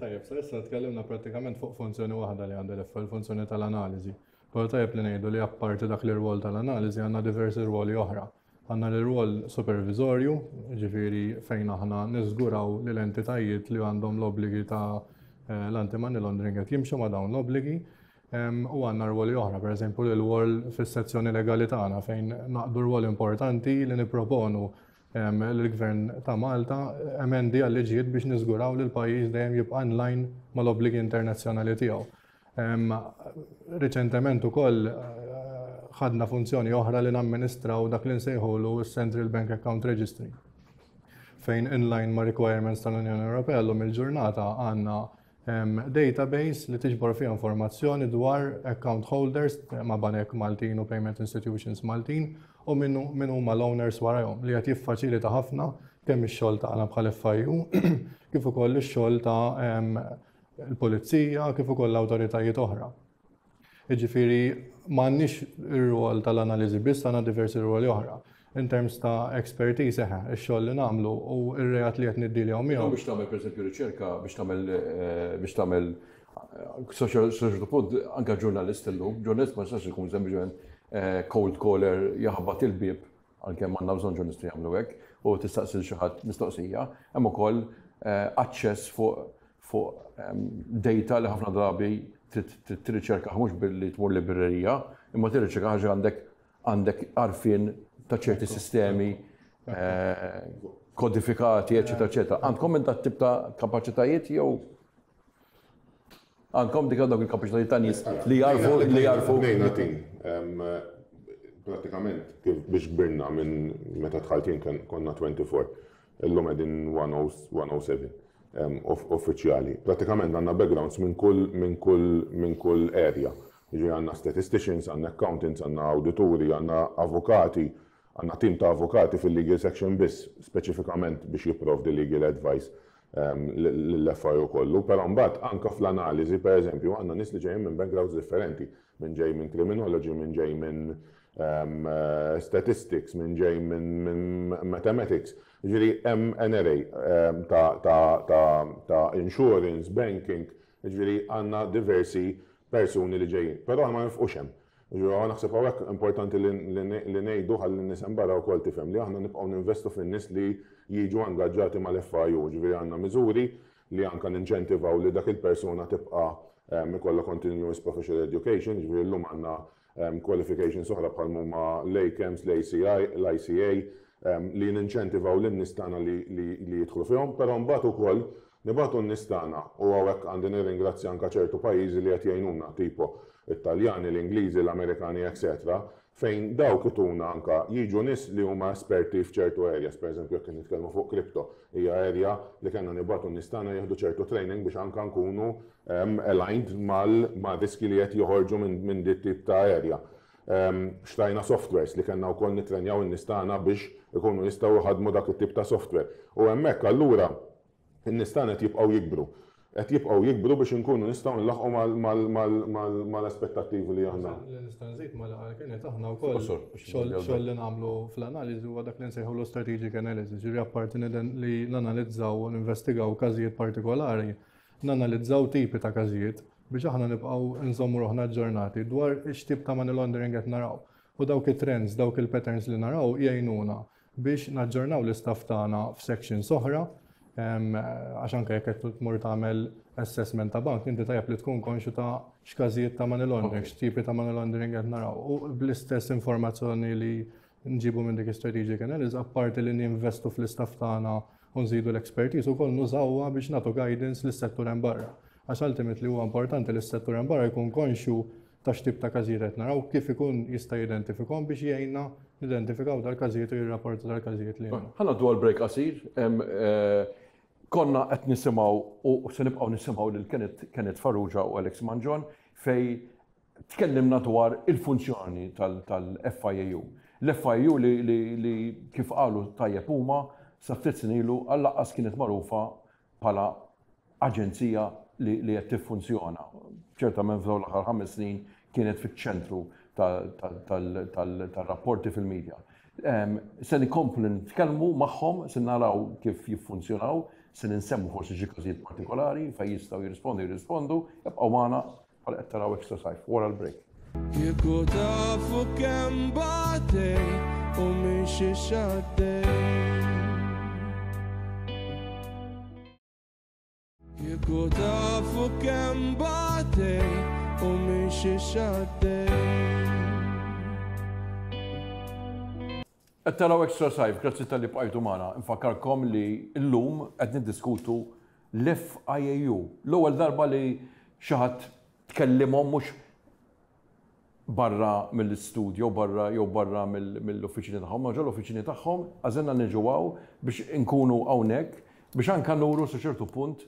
D: Tajjeb, sa issa tkellimna prattikament fuq funzjoni waħda li għandha l-FIU, il-funzjoni tal-analiżi. Però tajjeb li ngħidu li apparti dak l-irwol tal-analiżi għandna diversi rwoli oħra. Għandna l-rwol supervisorju, ġifieri fejn aħna niżguraw li l-entitajiet li għandhom l-obbligi ta' l-anti-money laundering qed jimxu ma' dawn l-obbligi. U għandna rwoli oħra, per eżempju l-rwol fis-sezzjoni legali tagħna fejn naqdu rwol importanti li nipproponu l-Gvern ta' Malta emendi għal-liġijiet biex niżguraw li l-pajjiż dejjem jibqa' in line mal-obbligi internazzjonali tiegħu. Riċentement ukoll ħadna funzjoni oħra li namministraw dak li nsejħulu s-Central Bank Account Registry, fejn in line ma' requirements tal-Unjoni Ewropea llum il-ġurnata għandna database li tiġbor fiha informazzjoni dwar account holders ma' banek Maltin u payment institutions Maltin u min huma l-owners warahom, li qed jiffaċilita ħafna kemm ix-xogħol tagħna bħal FIU kif ukoll ix-xogħol ta' l-pulizija kif ukoll l-awtoritajiet oħra. Jiġifieri m'għandniex ir-rwol tal-analiżi biss, għandna diversi rwoli oħra. In terms ta' expertise, eħe, ix-xogħol li nagħmlu u r-reat li qed niddiljaw miegħu.
B: Biex tagħmel, pereżempju, riċerka, biex tagħmel social punt, anke ġurnalist illum, ġurnalist ma jistax ikun sempliċement cold caller jaħbat il-bieb, għalkemm għandna bżonn ġurnalisti jagħmlu hekk, u tistaqsi xi ħadd mistoqsija, hemm ukoll aċċess fuq data li ħafna drabi trid tirriċerka mhux billi tmur librerija, imma tirriċerka ħaġa għandek għarfien ta' ċerti sistemi kodifikati, eċetera, eċetera. Għandkom minn dat tip ta' kapaċitajiet jew għandkom dik dawk il-kapaċitajiet ta' nies li jarfu?
C: Bnejna team. Pratikament kif biex kbirna minn meta dħalt jien konna 24. Illum qegħdin 107 uffiċjali. Pratikament għandna backgrounds minn kull area. Ġi għandna statisticians, għandna accountants, għandna awdituri, għandna avukati, għandna team ta' avukati fil-legal section biss, speċifikament biex jipprovdi legal advice l-FIU kollu, però mbagħad anka fl-analiżi, per eżempju, għandna nies li ġejjin minn backgrounds differenti, minn ġej minn criminology, minn ġej minn statistics, minn ġej minn mathematics. Ġifieri hemm NRA ta' insurance, banking, ġifieri għandna diversi persuni li ġejjin. Però ma nifqux hemm. Ġifieri naħseb hawnhekk importanti li ngħidu ħalli n-nies hemm barra wkoll tifhem li aħna nibqgħu ninvestu fin-nies li jiġu angaġġati mal-FIU, ġifieri għandna miżuri li anka ninċentivaw li dak il-persuna tibqa' ikollha continuous professional education, ġifieri llum għandna qualifications oħra bħal huma l-ACAMS, l-ACI, l-ICA, li ninċentivaw lin-nies tagħna li jidħlu fihom, però mbagħad ukoll nibagħtu n-nies tagħna u hawnhekk għandi nirringrazzja anka ċertu pajjiżi li qed jgħinuna, tipo Italjani, l-Ingliżi, l-Amerikani, etc., fejn dawk ituna anka jiġu nies li huma esperti f'ċertu areas, per eżempju jekk nitkellmu fuq crypto, hija area li kellna nibagħtu n-nies tagħna jieħdu ċertu training biex anka nkunu aligned ma' riski li qed joħorġu minn dit tip ta' area. Xtrajna softwares li kellna wkoll nitrenjaw in-nies tagħna biex ikunu jistgħu jħadmu dak it-tip ta' software. U hemmhekk allura in-nies tagħna qed jibqgħu jikbru. Qed jibqgħu jikbru biex inkunu nistgħu nlaħqu mal-aspettattivi li aħna.
D: Li nista' nżid ma li kienet aħna wkoll xogħol li nagħmlu fl-analiżi huwa dak li nsejħulu strategic analysis, ġifieri apparti li nanalizzaw u ninvestigaw każijiet partikolari, nanalizzaw tipi ta' każijiet biex aħna nibqgħu nżommu ruħna aġġornati dwar x'tip ta' money laundering qed naraw. U dawk it-trends, dawk il-patterns li naraw jgħinuna. biex naġġornaw l-istaff tagħna f'sections oħra għax anke jekk qed tmur tagħmel assessment ta' bank, inti tajjeb li tkun konxju ta' x'każijiet ta' money laundering, x'tipi ta' money laundering qed naraw. U bl-istess informazzjoni li nġibu minn dik strategic analysis, apparti li ninvestu fl-istaff tagħna u nżidu l-expertise ukoll nużawha biex nagħtu guidance lis-settur hemm barra. Għax ultimately huwa importanti li s-settur hemm barra jkun konxju ta' x'tip ta' każijiet qed naraw, kif ikun jista' jidentifikhom biex jgħinna nidentifikaw dal-każijiet u jirrapporta dal-każijiet li
B: Ħa ngħaddu għal break qasir. Konna qed nisimgħu u se nibqgħu nisimgħu lil Kenneth Farrugia u Alex Mangion fejn tkellimna dwar il-funzjoni tal-FIAU. L-FIAU li kif qalu tajjeb huma sa ftit snin ilu għall-aqqas kienet magħrufa bħala aġenzija li qed tiffunzjona. Ċertament f'dawn l-aħħar 5 snin kienet fiċ-ċentru tar-rapporti fil-medja. Se nkomplu nitkellmu magħhom, se naraw kif jiffunzjonaw, se ninsemmu forsi xi każijiet partikolari fejn jistgħu jirrispondu jirrispondu, ibqgħu magħna bħala qed taraw Extra Sajf wara l-break.
A: Kieku tafu kemm batej u minn xiex għaddej. Kieku tafu kemm batej u minn xiex għaddej.
B: Qed taraw Extra Sajf, grazzi talli bqajtu magħna. Infakkarkom li llum qed niddiskutu l-FIAU. L-ewwel darba li xi ħadd tkellimhom mhux barra mill-istudio, barra jew barra mill-uffiċini tagħhom, ma ġol uffiċini tagħhom, għażilna niġu hawn biex inkunu hawnhekk biex anka nuru sa ċertu punt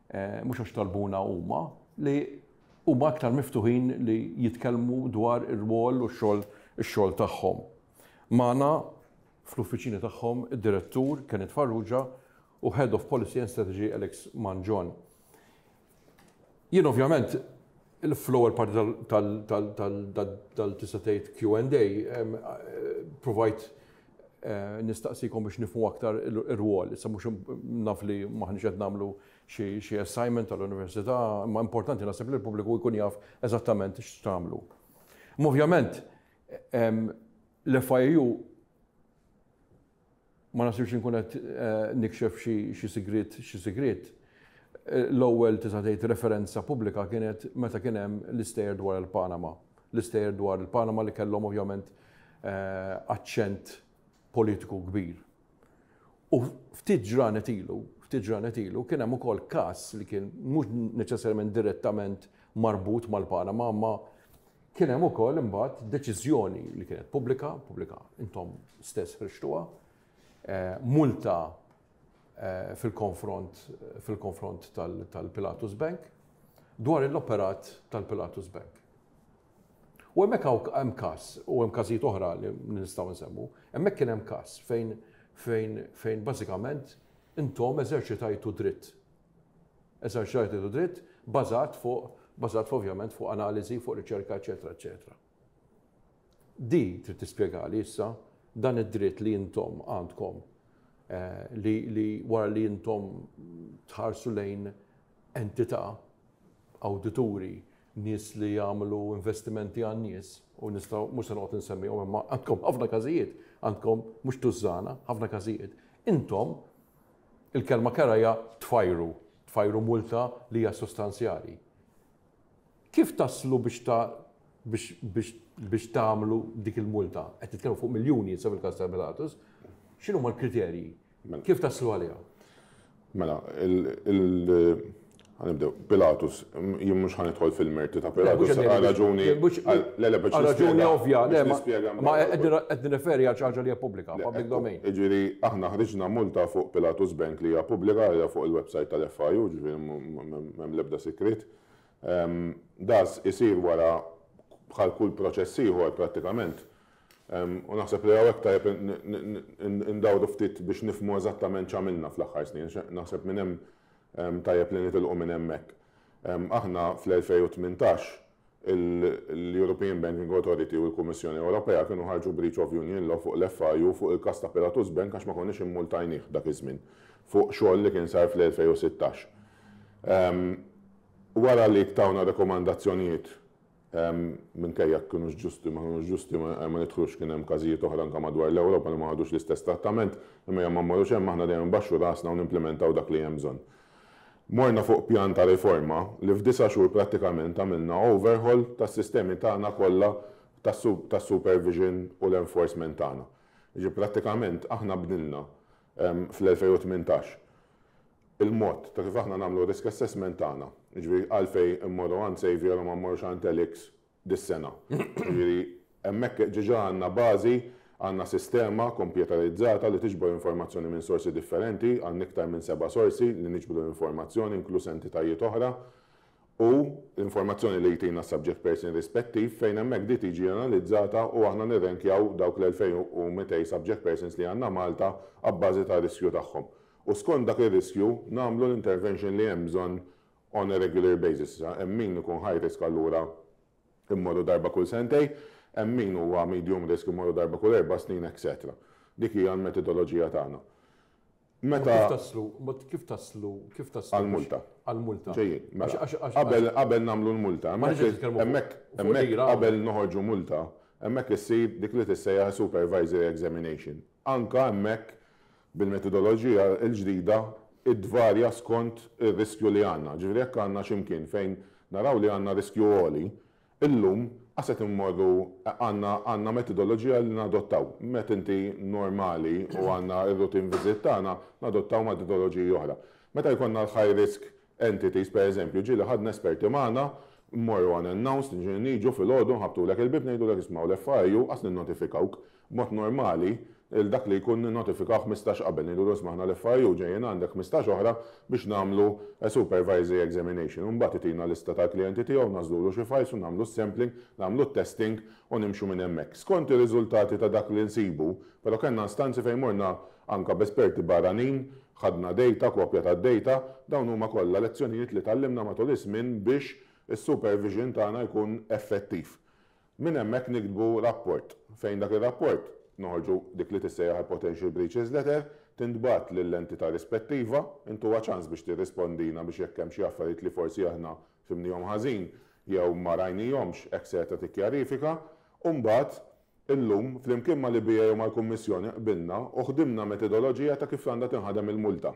B: mhux għax talbuna huma li huma aktar miftuħin li jitkellmu dwar ir-rwol u x-xogħol ix-xogħol tagħhom. Magħna fl-uffiċini tagħhom id-direttur Kenneth Farrugia u Head of Policy and Strategy Alex Mangion. Jien ovvjament fl-ewwel parti tal tista' tgħid Q&A provajt nistaqsikom biex nifhmu aktar ir-rwol. Issa mhux naf li m'aħniex qed nagħmlu xi assignment tal-università, imma importanti naħseb li l-pubbliku jkun jaf eżattament x'tagħmlu. Imma ovvjament l-FIAU ma naħsibx inkun qed nikxef xi sigriet xi sigriet. L-ewwel tista' tgħid referenza pubblika kienet meta kien hemm l-istejjer dwar il-Panama. L-istejjer dwar il-Panama li kellhom ovvjament aċċent politiku kbir. U ftit ġranet ilu, ftit ġranet ilu kien hemm ukoll każ li kien mhux neċessarjament direttament marbut mal-Panama, imma Kien hemm ukoll imbagħad deċiżjoni li kienet pubblika, pubblika intom stess ħriġtuha, multa fil-konfront fil-konfront tal-Pilatus Bank dwar l-operat tal-Pilatus Bank. U hemmhekk hawn hemm każ u hemm każijiet oħra li nistgħu nsemmu, hemmhekk kien hemm każ fejn fejn fejn bażikament intom eżerċitajtu dritt Eżerċitajtu dritt bażat fuq bażat fuq ovvjament fuq analiżi, fuq riċerka, eċetera, eċetera. Di trid tispjegali issa dan id-dritt li intom għandkom li, li wara li intom tħarsu lejn entità, awdituri, nies li jagħmlu investimenti għan-nies u nistgħu mhux se noqgħod insemmihom imma għandkom ħafna każijiet, għandkom mhux tużżana, ħafna każijiet. Intom Il-kelma kerha hija tfajru, tfajru multa li hija sostanzjali. Kif taslu biex ta' biex biex biex tagħmlu dik il-multa? Qed nitkellmu fuq miljuni issa fil-każ ta' Pilatus. X'inhuma l-kriterji? Mela. Kif taslu għaliha?
C: Mela, il Ħa nibdew. Pilatus, jien mhux ħa nidħol fil-merti ta' Pilatus għal raġuni.
B: Le, le, biex raġuni ovvja, le, ma qed nirreferi għal xi ħaġa li hija pubblika, public domain.
C: Jiġifieri aħna ħriġna multa fuq Pilatus Bank li hija pubblika, hija fuq il-website tal-FIU, ġifieri m'hemm l-ebda sigriet. Das isir wara bħal kull proċess ieħor prattikament. U naħseb li hawnhekk tajjeb indawru ftit biex nifhmu eżattament x'għamilna fl-aħħar snin. Naħseb minn hemm Tajjeb li nitilqu minn hemmhekk. Aħna fl-2018 l-European Banking Authority u l-Kummissjoni Ewropea kienu ħarġu breach of union law fuq l-FIU fuq il-każ ta' Pilatus Bank għax ma konniex immultajnih dak iż-żmien fuq xogħol li kien sar fl-2016. Wara li tawna rekomandazzjonijiet. Minkejja kinux ġusti, ma kinux ġusti, ma nidħlux, kien hemm każijiet oħra anke madwar l-Ewropa li ma ħadux l-istess trattament, imma ma mmorrux hemm, aħna dejjem nbaxxu rasna u nimplementaw dak li hemm bżonn. Morna fuq pjan ta' riforma li f'9 xhur prattikament għamilna overhaul tas-sistemi tagħna kollha tas-supervision u l-enforcement tagħna. Ġi prattikament aħna bdilna fl-2018 il-mod ta' kif aħna nagħmlu risk assessment tagħna. Ġifieri għalfejn immorru għand Xavier u ma mmorrux għand Alex dis-sena. Ġifieri hemmhekk diġà għandna bażi, għandna sistema kompjuterizzata li tiġbor informazzjoni minn sorsi differenti, għandna iktar minn seba' sorsi li niġbru informazzjoni, inkluż entitajiet oħra, u l-informazzjoni li jtina subject person rispettiv, fejn hemmhekk di tiġi analizzata u aħna nirrenkjaw dawk l-2200 subject persons li għandna Malta abbażi ta' riskju tagħhom. U skont dak ir-riskju nagħmlu l-intervention li hemm bżonn on a regular basis. Hemm min ikun high risk, allura immorru darba kull sentejn, hemm min huwa medium risk, immorru darba kull 4 snin, etc. Dik hija l-metodoloġija tagħna.
B: Meta kif taslu, kif taslu, kif taslu?
C: Għal-multa.
B: Għal-multa.
C: Ġejjin, mela. Qabel nagħmlu l-multa, hemmhekk qabel noħorġu multa, hemmhekk issir dik li tissejjaħ supervisory examination. Anka hemmhekk bil-metodoloġija l-ġdida idvarja skont ir-riskju li għandna. Ġifieri jekk għandna x'imkien fejn naraw li għandna riskju għoli, illum għaset immorru għandna metodoloġija li nadottaw. Met inti normali u għandna il-routine visit tagħna, nadottaw metodoloġiji oħra. Meta jkollna l-high risk entities, per eżempju, ġieli ħadna esperti magħna, mmorru unannounced, niġu filgħodu, nħabbtulek il-bieb, ngħidulek, "Isma', l-FIU," qas ninnotifikawk. Mod normali, il-dak li jkun notifikaw 15 qabel, ngħidu, "Isma', l-FIU ġejjin għandek 15 oħra biex nagħmlu a supervisory examination." Mbagħad itina lista tal-klijenti tiegħu, nagħżlulu xi files u nagħmlu sampling, nagħmlu testing u nimxu minn hemmhekk. Skont ir-riżultati ta' dak li nsibu, però kellna istanzi fejn morna anka b'esperti barranin, ħadna data, kopja ta' data, dawn huma kollha lezzjonijiet li tgħallimna matul iż-żmien biex is-supervision tagħna jkun effettiv. Minn hemmhekk niktbu rapport, fejn dak ir-rapport noħorġu dik li tissejjaħ potential breaches letter, tintbagħat lill-entità rispettiva, intuha ċans biex tirrispondina biex jekk hemm xi affarijiet li forsi aħna fhimnihom ħażin jew ma rajnihomx, etc. tikkjarifika, u mbagħad illum flimkien mal-EBA u mal-Kummissjoni qbilna u ħdimna metodoloġija ta' kif għandha tinħadem il-multa.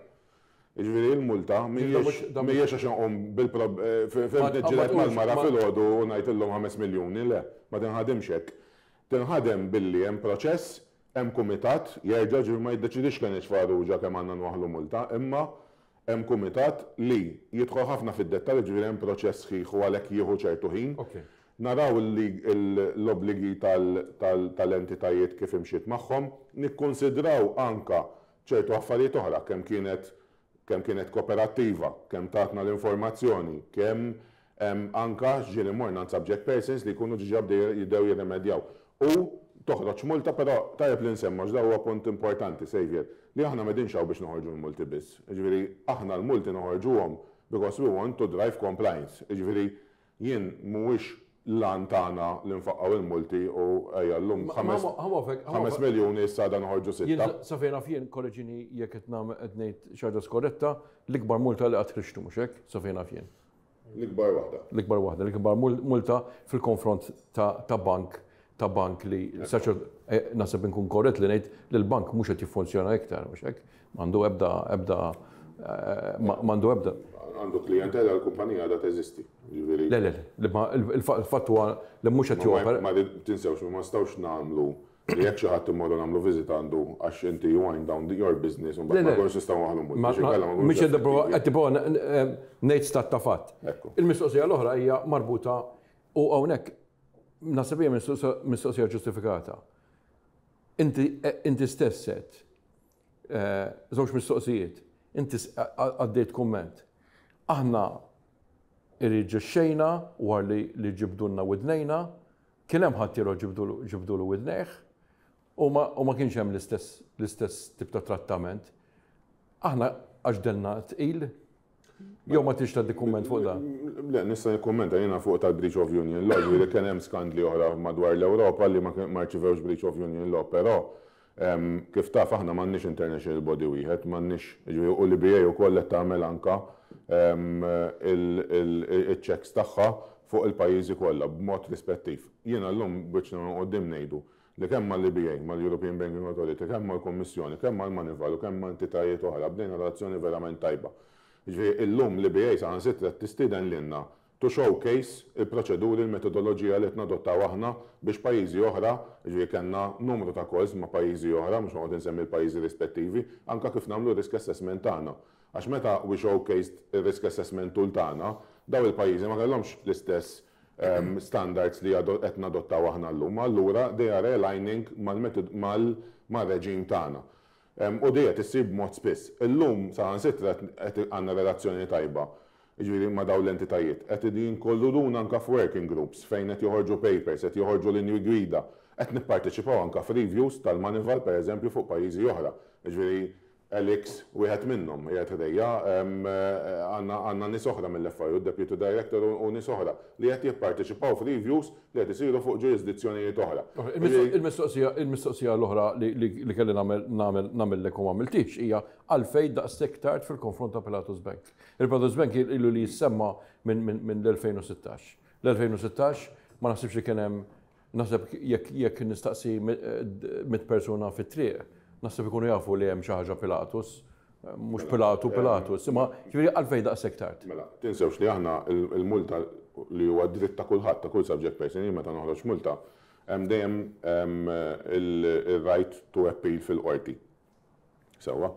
C: Ġifieri il-multa mhijiex għax nqum bil-niġġieled mal-mara filgħodu u ngħid illum 5 miljuni, le, ma tinħadimx hekk. Tinħadem billi hemm proċess, hemm kumitat, jerġa' ġifieri ma jiddeċidix Kenneth Farrugia kemm għandna nwaħlu multa, imma hemm kumitat li jidħol ħafna fid-dettall, ġifieri hemm proċess sħiħ u għalhekk jieħu ċertu ħin. Naraw l-obbligi tal-entitajiet kif imxiet magħhom, nikkonsidraw anka ċertu affarijiet oħra, kemm kienet kooperattiva, kemm tatna l-informazzjoni, kemm anka ġieli morna subject persons li jkunu diġà jibdew jirremedjaw. U toħroġ multa, però tajjeb li nsemmu, da huwa punt importanti, Xavier, li aħna m'qegħdinx hawn biex noħorġu l-multi biss. Ġifieri aħna l-multi noħorġuhom because we want to drive compliance. Ġifieri jien mhuwiex l-għan tagħna li nfaqqaw il-multi u ejja llum 5 miljuni, issa dan noħorġu 6.
B: Sa fejn naf jien, korreġini jekk qed nagħmel qed ngħid xi ħaġa skorretta, l-ikbar multa li qatt ħriġtu, mhux hekk, sa fejn naf jien?
C: L-ikbar waħda.
B: L-ikbar waħda, l-ikbar multa fil-konfront ta' bank li saċer naħseb inkun korrett li ngħid li l-bank mhux qed jiffunzjona iktar, mhux hekk? M'għandu ebda
C: Għandu klijentela, l-kumpanija għadha teżisti.
B: Ġifieri. Le, le, le, il-fatt huwa li mhux qed jopera.
C: Ma tinsewx, ma nistgħux nagħmlu li jekk xi ħadd immorru nagħmlu viżita għandu għax inti you wind down your business u mbagħad ma nkunux nistgħu nagħmlu
B: multi. Mhux qed tipprova ngħid stat ta' fatt. Il-mistoqsija l-oħra hija marbuta u hawnhekk naħseb hija mistoqsija ġustifikata. Inti stess set żewġ mistoqsijiet. Inti għaddejt kumment. Aħna irriġixxejna wara li ġibdulna widnejna, kien hemm ħadd ġibdulu widnejh u ma kienx hemm l-istess tip ta' trattament. Aħna għax delna tqil, jew ma tix tgħaddi kumment fuq dan?
C: Le, nista' nikkummenta jiena fuq tal-Breach of Union Law, ġifieri kien hemm skandli oħra madwar l-Ewropa li ma rċivewx Breach of Union Law, però kif taf aħna m'għandniex international body wieħed, m'għandniex, ġifieri u l-EBA wkoll qed tagħmel anka Il-checks tagħha fuq il-pajjiżi kollha b'mod rispettiv. Jiena llum b'wiċċna minn quddiem ngħidu li kemm mal-EBA, mal-European Banking Authority, kemm mal-Kummissjoni, kemm mal-Moneyval u kemm ma' entitajiet oħra bdejna relazzjoni verament tajba. Jiġifieri illum l-EBA saħansitra qed tistieden lilna to showcase il-proċeduri, il-metodoloġija li qed nadottaw aħna biex pajjiżi oħra, jiġifieri kellna numru ta' calls ma' pajjiżi oħra, mhux noqgħod insemmi l-pajjiżi rispettivi, anke kif nagħmlu r-risk assessment tagħna. Għax meta we showcased ir-risk assessment tool tagħna, dawn il-pajjiżi ma kellhomx l-istess standards li qed nadottaw aħna llum, allura they are aligning mal-reġim tagħna. U di qed issir b'mod spiss. Illum saħansitra qed għandna relazzjoni tajba, jiġifieri ma' dawn l-entitajiet. Qed jinkluduna anke f'working groups fejn qed joħorġu papers, qed joħorġu linji gwida. Qed nipparteċipaw anke f'reviews tal-Moneyval pereżempju fuq pajjiżi oħra. Jiġifieri Alex wieħed minnhom qiegħed ħdejja, għandna nies oħra mill-FIU, Deputy Director u nies oħra li qed jipparteċipaw f'reviews li qed isiru fuq ġurisdizzjonijiet oħra.
B: Il-mistoqsija il-mistoqsija l-oħra li kelli nagħmel nagħmel nagħmillek u m'għamiltix hija għalfejn daqshekk tard fil-konfront ta' Pilatus Bank. Il-Pilatus Bank ilu li jissemma minn l-2016. L-2016 ma naħsibx li kien hemm. Naħseb jekk nistaqsi mit persuna fit-triq, naħseb ikunu jafu li hemm xi ħaġa Pilatus, mhux Pilatu, Pilatus, imma ġifieri għalfejn daqshekk tard?
C: Mela, tinsewx li aħna l-multa li huwa dritt ta' kulħadd, ta' kull subject person, jien meta noħroġ multa, hemm dejjem ir-right to appeal fil-qorti. Sewwa?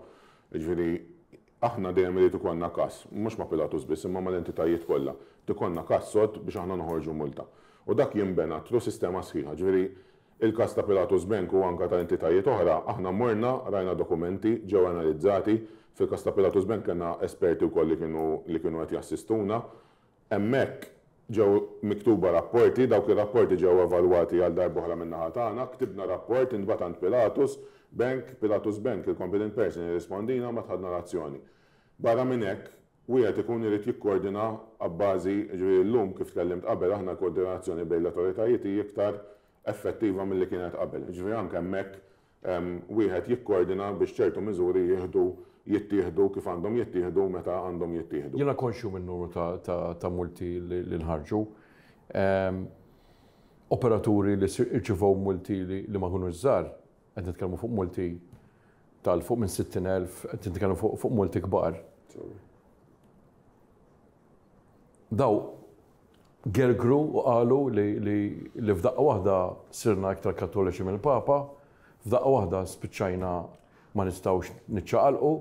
C: Jiġifieri, aħna dejjem irid ikollna każ, mhux ma' Pilatus biss imma mal-entitajiet kollha, irid ikollna każ sod biex aħna noħorġu multa. U dak jinbena through sistema sħiħa. Ġifieri, il-każ ta' Pilatus Bank u anke ta' entitajiet oħra, aħna morna, rajna dokumenti, ġew analizzati. Fil-każ ta' Pilatus Bank kellna esperti wkoll li kienu li kienu qed jassistuna. Hemmhekk ġew miktuba rapporti, dawk ir-rapporti ġew evalwati għal darb'oħra min-naħa tagħna, ktibna rapport, intbagħat għand Pilatus Bank, Pilatus Bank, il-competent person irrispondina mbagħad ħadna l-azzjoni. Barra minn hekk, wieħed ikun irid jikkordina abbażi, jiġifieri llum kif tkellimt qabel aħna l-koordinazzjoni bejn l-awtoritajiet hi iktar effettiva milli kienet qabel. Jiġifieri anke hemmhekk wieħed jikkordina biex ċertu miżuri jieħdu jittieħdu kif għandhom jittieħdu meta għandhom jittieħdu.
B: Jiena konxju min-numru ta' multi li nħarġu. Operaturi li rċivew multi li ma kinux żgħar, qed nitkellmu fuq multi tal fuq minn 60,000, qed nitkellmu fuq multi kbar. Daw gergru u qalu li f'daqqa waħda sirna iktar Kattoliċi mill-Papa, f'daqqa waħda spiċċajna ma nistgħux niċċaqalqu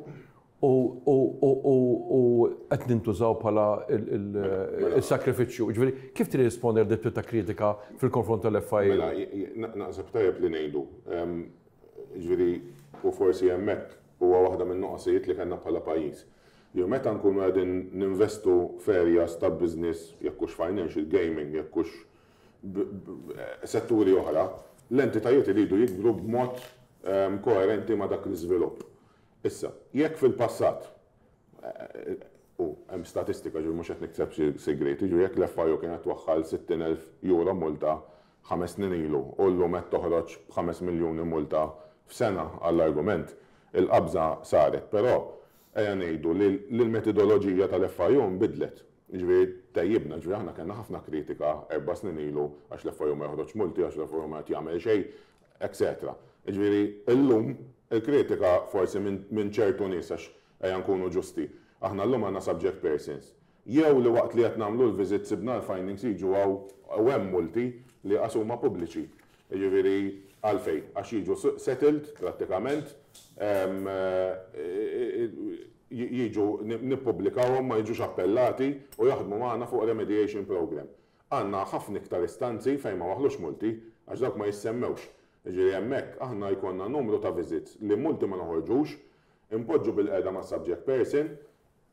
B: u qed nintużaw bħala il-sakrifiċċju. Ġifieri, kif tirrispondi għal dit ta' kritika fil-konfront tal-FIA?
C: Mela, naħseb tajjeb li ngħidu. Ġifieri, u forsi hemmhekk huwa waħda min-nuqqasijiet li kellna bħala pajjiż. Jew meta nkunu qegħdin ninvestu f'areas ta' business, jekk hux financial, gaming, jekk hux setturi oħra, l-entitajiet iridu jikbru b'mod koerenti ma' dak l-iżvilupp. Issa, jekk fil-passat, u hemm statistika ġifieri mhux qed nikseb xi sigriet, jiġifieri jekk l-FIU kienet twaħħal €60,000 multa 5 snin ilu u llum qed toħroġ b'5 miljuni multa f'sena għall-argument, il-qabża saret, però ejja ngħidu li l-metodoloġija tal-FIU nbidlet. Ġifieri tejjibna, ġifieri aħna kellna ħafna kritika 4 snin ilu għax l-FIU ma joħroġ multi, għax l-FIU ma qed jagħmel xejn, etc. Ġifieri illum il-kritika forsi minn ċertu nies għax ejja nkunu ġusti. Aħna llum għandna subject persons. Jew li waqt li qed nagħmlu l-visit sibna l-findings jiġu hawn u hemm multi li qas huma pubbliċi. Ġifieri għalfejn, għax jiġu settled prattikament, jiġu nippubblikawhom ma jiġux appellati u jaħdmu magħna fuq remediation program. Għandna ħafna iktar istanzi fejn ma waħlux multi għax dawk ma jissemmewx. Ġifieri hemmhekk aħna jkollna numru ta' visits li multi ma noħorġux, impoġġu bilqiegħda ma' subject person,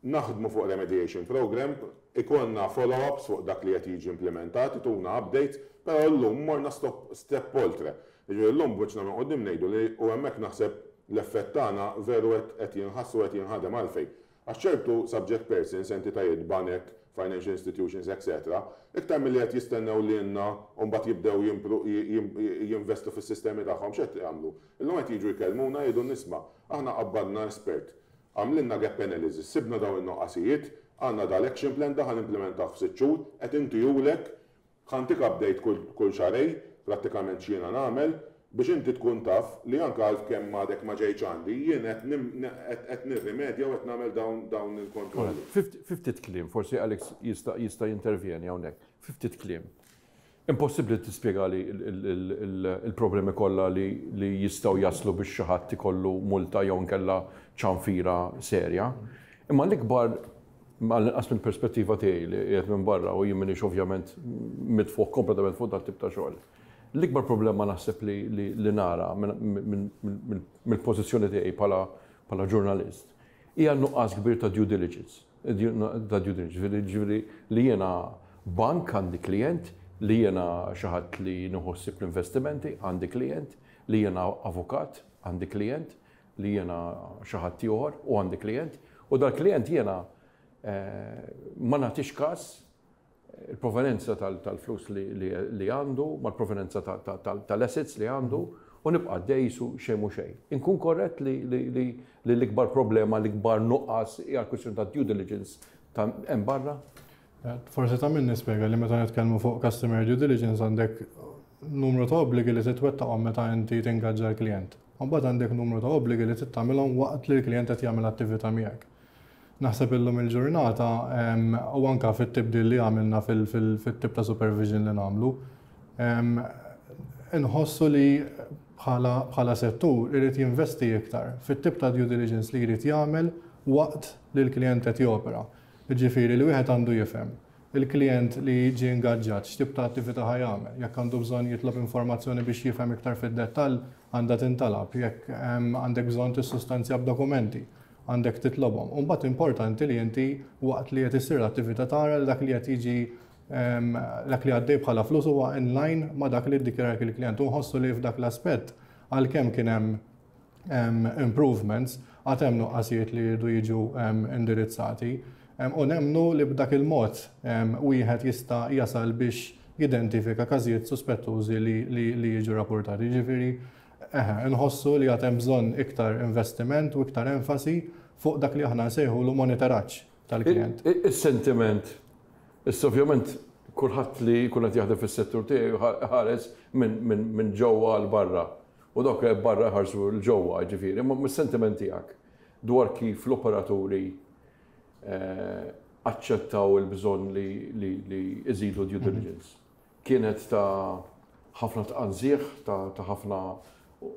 C: naħdmu fuq remediation program, ikollna follow-ups fuq dak li qed jiġi implementat, ituna updates, però llum morna stop step oltre. Ġifieri llum b'wiċċna minn quddiem ngħidu li u hemmhekk naħseb l-effett tagħna veru qed jinħassu qed jinħadem għalfejn. Għax ċertu subject persons, entitajiet, banek, financial institutions, etc., iktar milli qed jistennew li jenna u mbagħad jibdew jinvestu fis-sistemi tagħhom x'qed jagħmlu. Illum qed jiġu jkellmuna jgħidu nisma' aħna qabbadna espert. Għamlilna gap analysis, sibna dawn in-noqqasijiet. Għandna dal-action plan, da ħa nimplementah f'6 xhur, qed intihulek, ħa ntik update kull xahrejn, prattikament x'jiena nagħmel, biex inti tkun taf li anke għal kemm għadek ma ġejtx għandi, jien qed nirrimedja u qed nagħmel dawn il-kontrolli.
B: Fi ftit kliem, forsi Alex jista' jintervjeni hawnhekk. Fi ftit kliem. Impossibbli tispjegali il-problemi kollha li jistgħu jaslu biex xi ħadd ikollu multa jew nkella ċanfira serja. Imma l-ikbar, għall-inqas mill-perspettiva tiegħi li qiegħed minn barra u jien m'iniex ovvjament mitfuħ kompletament fuq dat tip ta' xogħol. L-ikbar problema naħseb li nara mill-pożizzjoni tiegħi bħala ġurnalist hija nuqqas kbir ta' due diligence. Ta' due diligence, ġifieri li jiena bank għandi klient, li jiena xi ħadd li nħossib l-investimenti għandi klient, li jiena avukat għandi klient, li jiena xi ħadd ieħor u għandi klient, u dal-klient jiena ma nagħtix każ il-provenenza tal-flus li għandu, mal-provenenza tal-assets li għandu, u nibqa' dejsu xejn mhu xejn. Inkun korrett li l-ikbar problema, l-ikbar nuqqas hija l-kwistjoni ta' due diligence ta' hemm barra?
D: Forsi ta' min nispjega li meta nitkellmu fuq customer due diligence għandek numru ta' obbligi li titwettaqhom meta inti tingaġġa l-klient. Mbagħad għandek numru ta' obbligi li tagħmilhom waqt li l-klient qed jagħmel attività miegħek. Naħseb illum il-ġurnata u anka fit-tibdil li għamilna fit-tip ta' supervision li nagħmlu, inħossu li bħala settur irid jinvesti iktar fit-tip ta' due diligence li jrid jagħmel waqt li l-klient qed jopera. Ġifieri li wieħed għandu jifhem il-klient li ġie ingaġġat x'tip ta' attività ħa jagħmel, jekk għandu bżonn jitlob informazzjoni biex jifhem iktar fid-dettall għandha tintalab, jekk għandek bżonn tissustanzja b'dokumenti għandek titlobhom. U mbagħad importanti li inti waqt li qed issir l-attività tara li dak li qed jiġi dak li għaddej bħala flus huwa in line ma' dak li ddikjara il-klient. U nħossu li f'dak l-aspett għalkemm kien hemm improvements, għad hemm nuqqasijiet li jridu jiġu indirizzati. U nemmnu li b'dak il-mod wieħed jista' jasal biex jidentifika każijiet suspettużi li jiġu rapportati. Ġifieri, eħe, nħossu li għad hemm bżonn iktar investiment u iktar enfasi fuq dak li aħna nsejħulu monitoraġġ tal-klient.
B: Is-sentiment, issa ovvjament kulħadd li jkun qed jaħdem fis-settur tiegħu ħares minn ġewwa għal barra. U dawk barra ħarsu 'l ġewwa, ġifieri, imma mis-sentiment tiegħek dwar kif l-operaturi aċċettaw il-bżonn li iżidu due diligence. Kienet ta' ħafna tqanżieħ, ta' ħafna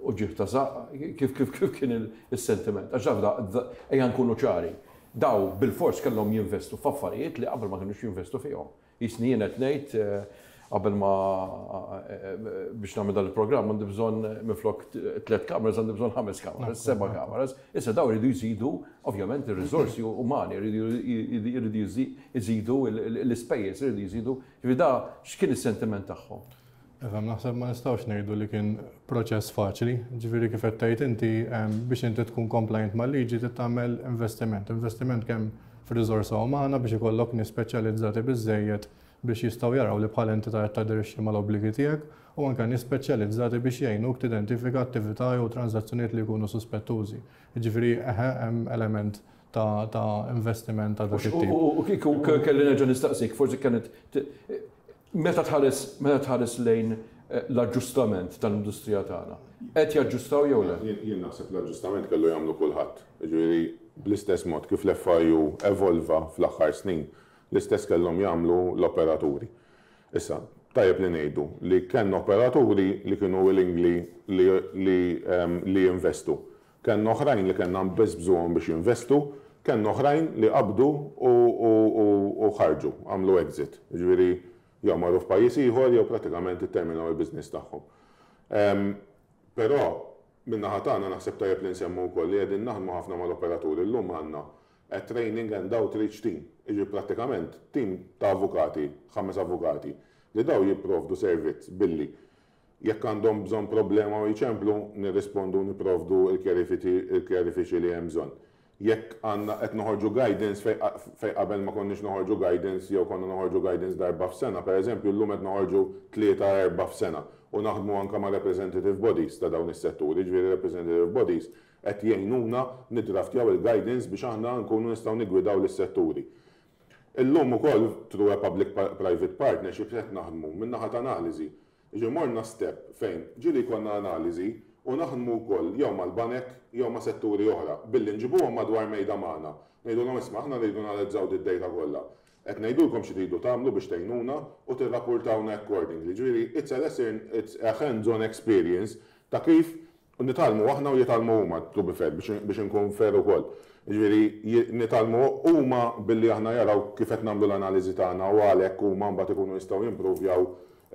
B: uġigħ ta' żaqq, kif kien il-sentiment? Għax ejja nkunu ċari, daw bil-fors kellhom jinvestu f'affarijiet li qabel ma kienux jinvestu fihom. Jisni jien qed ngħid qabel ma biex nagħmel dan il-programm għandi bżonn minflok tliet kameras għandi bżonn ħames kameras, seba' kameras. Issa daw iridu jżidu ovvjament ir-riżorsi umani, iridu jżidu l-ispejjeż, iridu jżidu. Ġifieri da x'kien is-sentiment tagħhom?
D: Efhem, naħseb ma nistgħux ngħidu li kien proċess faċli. Ġifieri kif qed tgħid inti, biex inti tkun compliant mal-liġi trid tagħmel investiment. Investiment kemm f'riżorsa umana biex ikollok nies speċjalizzati biżejjed biex jistgħu jaraw li bħala entità qed taderixxi mal-obbligi tiegħek u anke nies speċjalizzati biex jgħinuk tidentifika attività jew transazzjonijiet li jkunu suspettużi. Ġifieri eħe hemm element ta' investiment ta' dak it-tip.
B: U kieku kelli nerġa' nistaqsik, forsi kienet meta tħares lejn l-aġġustament tal-industrija tagħna. Qed jaġġustaw jew le?
C: Jien naħseb l-aġġustament kellu jagħmlu kulħadd. Ġifieri bl-istess mod kif l-FIU evolva fl-aħħar snin, l-istess kellhom jagħmlu l-operaturi. Issa, tajjeb li ngħidu li kellna operaturi li kienu willingly li jinvestu. Kellna oħrajn li kellna nbeżbżuhom biex jinvestu, kellna oħrajn li qabdu u ħarġu, għamlu exit. Ġifieri jew marru f'pajjiż ieħor jew pratikament itterminaw il-business tagħhom. Però min-naħa tagħna naħseb tajjeb li nsemmu wkoll li qegħdin naħdmu ħafna mal-operaturi. Llum għandna a training and outreach team. Iġi prattikament team ta' avukati, ħames avukati, li daw jipprovdu servizz billi jekk għandhom bżonn problema u jċemplu, nirrispondu, nipprovdu il-kjarifiċi li hemm bżonn. Jekk għandna qed noħorġu guidance fej qabel ma konniex noħorġu guidance jew konna noħorġu guidance darba f'sena, per eżempju, llum qed noħorġu tlieta, erba' f'sena u naħdmu anke ma' representative bodies ta' dawn is-setturi, ġifieri representative bodies qed jgħinuna nidraftjaw il-guidance biex aħna nkunu nistgħu nigwidaw lis-setturi. Illum ukoll through a public private partnership qed naħdmu min-naħa ta' analiżi. Jiġifieri morna step fejn ġieli jkollna analiżi u naħdmu wkoll jew mal-banek jew ma' setturi oħra billi nġibuhom madwar mejda magħna. Ngħidulhom isma' aħna rridu nanalizzaw did-data kollha. Qed ngħidulkom xi tridu tagħmlu biex tgħinuna u tirrappurtawna accordingly. Ġifieri it's a lesson, it's a hands-on experience ta' kif nitgħallmu aħna u jitgħallmu huma, to be fair, biex inkun fair ukoll. Jiġifieri nitgħallmu huma billi aħna jaraw kif qed nagħmlu l-analiżi tagħna u għalhekk huma mbagħad ikunu jistgħu jimpruvjaw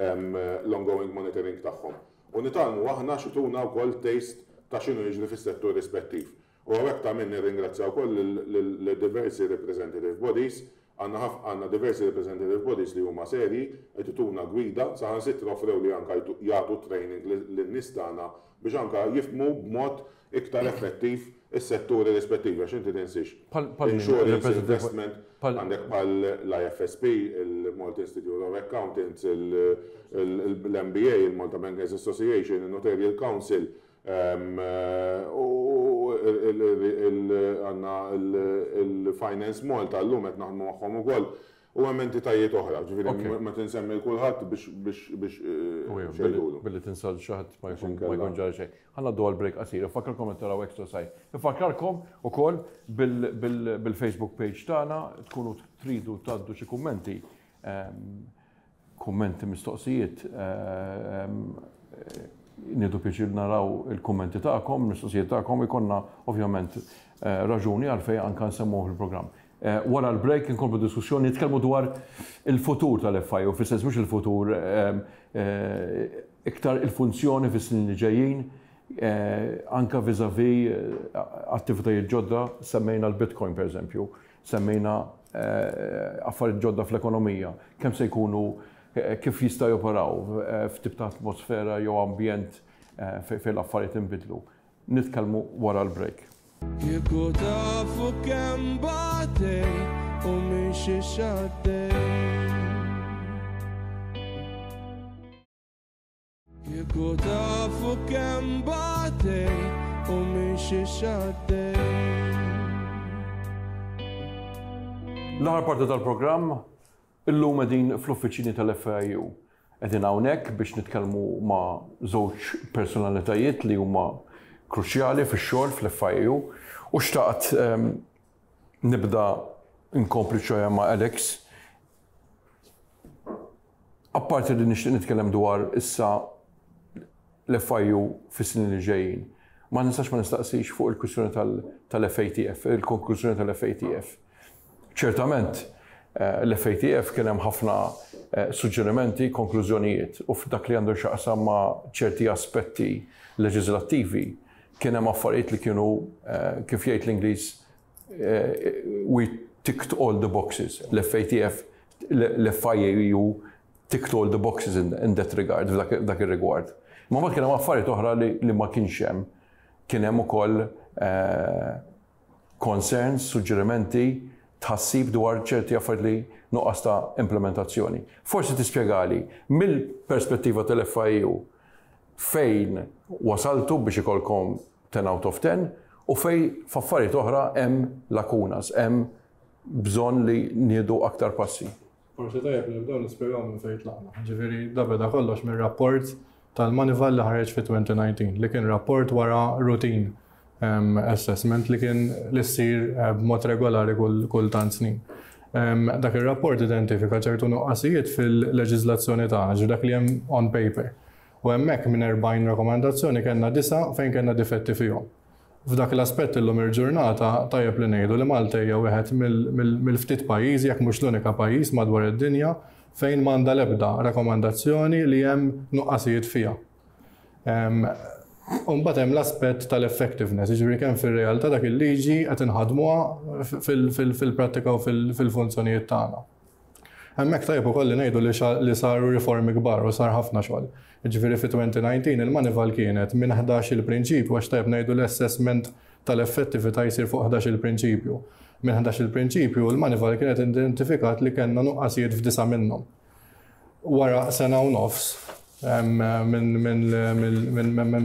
C: l-ongoing monitoring tagħhom. U nitgħallmu aħna għax ituna wkoll taste ta' x'inhu jiġri fis-settur rispettiv. U hawnhekk ta' min nirringrazzja wkoll lil diversi representative bodies, għandna ħaf għandna diversi representative bodies li huma serji, qed ituna gwida, saħansitra offrew li anke jagħtu training lin-nies tagħna biex anke jifhmu b'mod iktar effettiv is-setturi rispettivi għax inti tinsiex insurance, investment, għandek bħal l-IFSP, il-Malta Institute of Accountants, l-MBA, il-Malta Bankers Association, il-Notarial Council, U għandna il-Finance Malta llum qed naħdmu magħhom ukoll u hemm entitajiet oħra, ġifieri ma tinsemmi kulħadd biex biex
B: xejn. Billi tinsa l xi ħadd ma jkun ġara xejn. Ħa ngħaddu għal break qasir. Infakkarkom qed taraw Extra Side. Infakkarkom ukoll bil-Facebook page tagħna tkunu tridu tgħaddu xi kummenti Kummenti, mistoqsijiet, nieħdu pjaċir naraw il-kummenti tagħkom, mistoqsijiet tagħkom, ikollna ovvjament raġuni għalfejn anke nsemmuh fil-programm. Wara l-break inkomplu diskussjoni nitkellmu dwar il-futur tal-FIU, fis-sens mhux il-futur iktar il-funzjoni fis-snin li ġejjin, anke vis-à-vis attivitajiet ġodda, semmejna l-Bitcoin pereżempju. Semmejna affarijiet ġodda fl-ekonomija, kemm se jkunu kif jista' joperaw f'tip ta' atmosfera jew ambjent fejn l-affarijiet inbidlu. Nitkellmu wara l-break.
A: Kieku tafu kemm batej u minn xiex għaddej. Kieku tafu kemm batej u minn xiex għaddej.
B: L-aħħar parti tal-programm, illum qegħdin fl-uffiċini tal-FIU. Qegħdin hawnhekk biex nitkellmu ma' żewġ personalitajiet li huma kruċjali fix-xogħol fl-FIU u xtaqt ehm, nibda nkompli ċoja ma' Alex Apparti li nixtieq nitkellem dwar issa l-FIU fis-snin li ġejjin, ma nistax ma nistaqsix fuq il-kwistjoni tal-FATF, il-konklużjoni tal-FATF. Ċertament, eh, l-FATF kien hemm ħafna eh, suġġerimenti, konklużjonijiet u f'dak li għandu x'jaqsam ma' ċerti aspetti leġislattivi kien hemm affarijiet li kienu eh, kif jgħid l-Ingliż we ticked all the boxes. L-FATF, l-FIAU ticked all the boxes in, in that regard, f'dak ir-rigward. Ma ma kien hemm affarijiet oħra li, li ma kienx hemm. Kien hemm ukoll eh, concerns, suġġerimenti, tħassib dwar ċerti affarijiet li nuqqas ta' implementazzjoni. Forsi tispjegali mill-perspettiva tal-FIU fejn wasaltu biex ikolkom 10 out of 10 u fejn f'affarijiet oħra hemm lacunas, hemm bżonn li nieħdu aktar passi.
D: Forsi tajjeb li nibdew nispjegaw minn fejn tlaqna. Ġifieri da beda kollox mir-rapport tal-Moneyval li ħareġ fi 2019 li kien rapport wara routine ehm, assessment li kien li ssir eh, b'mod regolari kull tant snin. Ehm, dak ir-rapport identifika ċertu nuqqasijiet fil-leġiżlazzjoni tagħna, ġifieri dak li hemm on paper. U hemmhekk minn 40 rakomandazzjoni kellna disgħa fejn kellna difetti fihom. F'dak l-aspett illum il-ġurnata tajjeb li ngħidu li Malta hija wieħed mill-ftit pajjiżi jekk mhux l-unika pajjiż madwar id-dinja fejn m'għandha l-ebda rakomandazzjoni li hemm nuqqasijiet fiha. U mbagħad hemm l-aspett tal-effectiveness, jiġifieri kemm fir-realtà dak il-liġi qed inħaddmuha fil-prattika u fil-funzjonijiet tagħna. Hemmhekk tajjeb ukoll li ngħidu li saru riformi kbar u sar ħafna xogħol. Jiġifieri fi 2019 il-Moneyval kienet minn 11-il prinċipju għax tajjeb ngħidu l-assessment tal-effettività jsir fuq 11-il prinċipju. Minn 11-il prinċipju l-Moneyval kienet identifikat li kellna nuqqasijiet f'disa' minnhom. Wara sena u nofs minn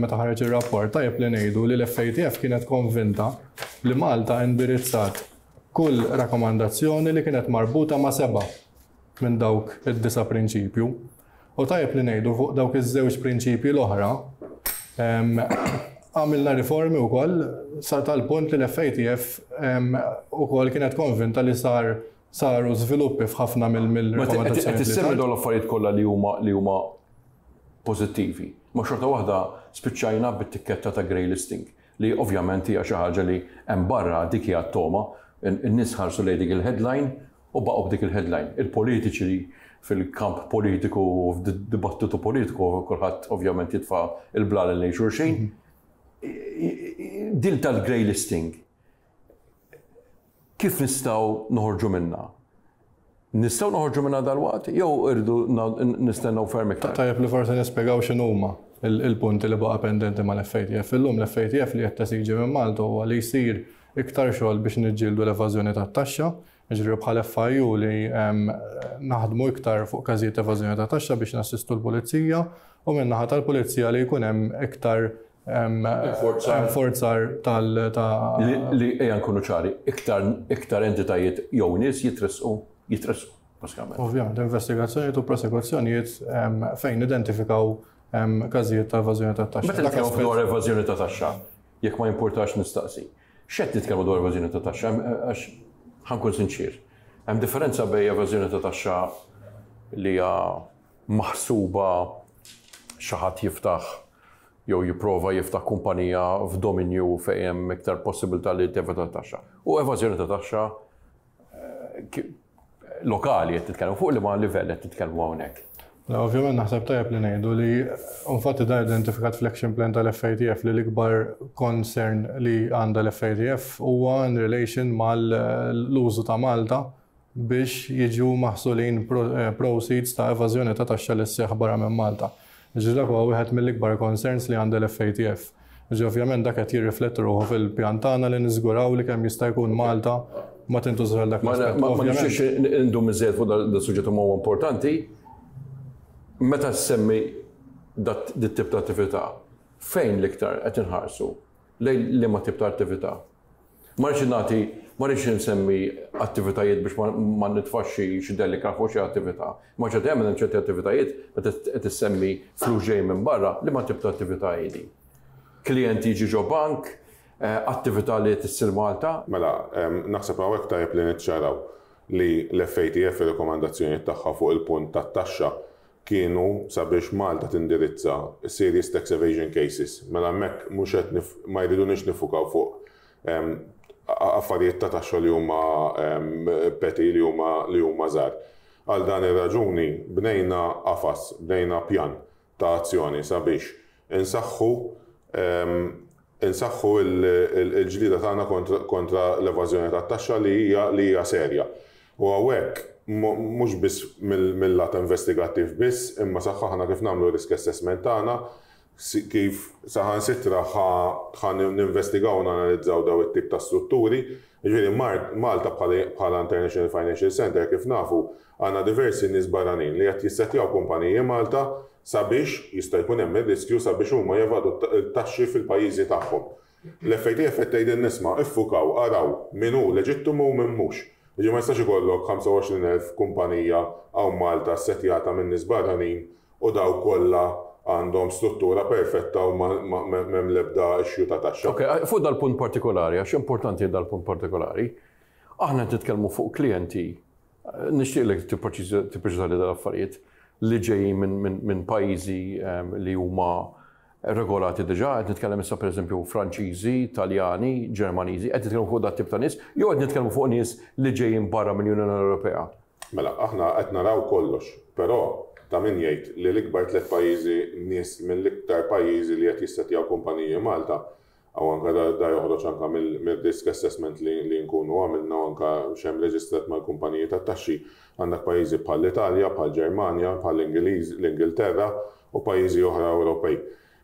D: meta ħareġ ir-rapport tajjeb li ngħidu li l-FATF kienet konvinta li Malta indirizzat. kull rakkomandazzjoni li kienet marbuta ma' sebgħa minn dawk id-disa' prinċipju. U tajjeb li ngħidu fuq dawk iż-żewġ prinċipji l-oħra, għamilna riformi wkoll sa tal-punt li l-FATF ukoll kienet konvinta li sar saru żviluppi f'ħafna mill-rakkomandazzjonijiet.
B: Qed issemmi dawn l-affarijiet kollha li huma li huma pożittivi. Ma xorta waħda spiċċajna bit-tikketta ta' grey listing li ovvjament hija xi ħaġa li hemm barra dik hija t-togħma. In-nies ħarsu lejn dik il-headline u baqgħu b'dik il-headline. Il-politiċi li fil-kamp politiku u f'dibattitu politiku kulħadd ovvjament jitfa' l-blalen lejn xulxin. Din tal-grey listing kif nistgħu noħorġu minnha? Nistgħu noħorġu minnha dalwaqt jew irridu nistennew ferm iktar?
D: Tajjeb li forsi nispjegaw x'inhuma l-punti li baqa' pendenti mal-FATF. Illum l-FATF li qed tesiġi minn Malta huwa li jsir iktar xogħol biex niġġieldu l-evażjoni tat-taxxa, jiġifieri bħal FIU li naħdmu iktar fuq każijiet ta' evażjoni ta' taxxa biex nassistu l-pulizija u min-naħa tal-pulizija li jkun hemm iktar enforzar tal ta'
B: Li ejja nkunu ċari, iktar iktar entitajiet jew nies jitressqu jitressqu bażikament.
D: Ovvjament, investigazzjonijiet u prosekuzzjonijiet fejn nidentifikaw każijiet ta' evażjoni ta' taxxa.
B: Meta nitkellmu dwar evażjoni ta' taxxa, jekk ma jimpurtax nistaqsi, x'qed nitkellmu dwar evażjoni ta' taxxa? Għax ħa nkun sinċier, hemm differenza bejn evażjoni ta' taxxa li hija maħsuba xi ħadd jiftaħ jew jipprova jiftaħ kumpanija f'dominju fejn hemm iktar possibilità li tevita t-taxxa. U evażjoni ta' taxxa lokali qed titkellmu fuq liema livell qed titkellmu hawnhekk.
D: Le, ovvjament naħseb tajjeb li ngħidu li infatti dan identifikat fl-action plan tal-FATF li l-ikbar concern li għandha l-FATF huwa in relation mal-użu ta' Malta biex jiġu maħsulin proceeds ta' evażjoni ta' taxxa li sseħħ barra minn Malta. Jiġifieri dak huwa wieħed mill-ikbar concerns li għandha l-FATF. Jiġifieri ovvjament dak qed jirrifletti ruħu fil-pjan tagħna li niżguraw li kemm jista' jkun Malta ma tintużax għal dak
B: l-aspett. Ma nixtieqx indum iżżejjed fuq dan is-suġġett imma huwa importanti. Meta ssemmi dat-tip ta' attività, fejn l-iktar qed inħarsu? Lejn liema tip ta' attività? Ma rridx nagħti, ma rridx insemmi attivitajiet biex ma nitfax xi delika fuq xi attività. Imma ċerti hemm ċerti attivitajiet meta qed issemmi flus ġej minn barra, liema tip ta' attività hi din? Klijent jiġi ġo bank, attività li qed issir Malta?
C: Mela, naħseb hawnhekk tajjeb li niċċaraw li l-FATF ir-rikomandazzjonijiet tagħha fuq il-punt tat-taxxa kienu sabiex Malta tindirizza serious tax evasion cases. Mela hemmhekk mhux qed ma jriduniex niffukaw fuq affarijiet ta' taxxa li huma petty, li huma li huma żgħar. Għal dan ir-raġuni bnejna qafas, bnejna pjan ta' azzjoni sabiex insaħħu insaħħu l-ġlieda tagħna kontra l-evażjoni tat-taxxa li hija li hija serja. U hawnhekk mhux biss mil-lat investigattiv biss, imma saħħaħna kif nagħmlu r-risk assessment tagħna, kif saħansitra ħa ninvestigaw u nanalizzaw dawn it-tip ta' strutturi. Jiġifieri Malta bħala International Financial Centre kif nafu għandna diversi nies barranin li qed jissettjaw kumpaniji Malta sabiex, jista' jkun hemm ir-riskju sabiex huma jevadu t-taxxi fil-pajjiżi tagħhom. L-FATF qed tgħidilna isma' iffukaw, araw min hu leġittimu u min mhux. Jiġifieri ma jistax ikollok 25,000 kumpanija hawn Malta ssettjata minn nies barranin u dawk kollha għandhom struttura perfetta u m'hemm l-ebda issue ta' taxxa.
B: Ok, fuq dal-punt partikolari, għax importanti dal-punt partikolari, aħna qed nitkellmu fuq klijenti Nixtieqlek tippreċiżali dal-affarijiet li ġejjin minn pajjiżi ehm, li huma regolati diġà, qed nitkellem issa pereżempju Franċiżi, Taljani, Ġermaniżi, qed nitkellmu fuq dat tip ta' nies, jew qed nitkellmu fuq nies li ġejjin barra mill-Unjoni Ewropea.
C: Mela, aħna qed naraw kollox, però ta' min jgħid li l-ikbar tliet pajjiżi nies mill-iktar pajjiżi li qed jissettjaw kumpaniji Malta U anke da joħroġ anke mir-risk assessment li nkunu għamilna u anke x'hemm reġistrat mal-kumpaniji tat-taxxi. Għandek pajjiżi bħall-Italja, bħall-Ġermanja, bħall-Ingilterra u pajjiżi oħra Ewropej.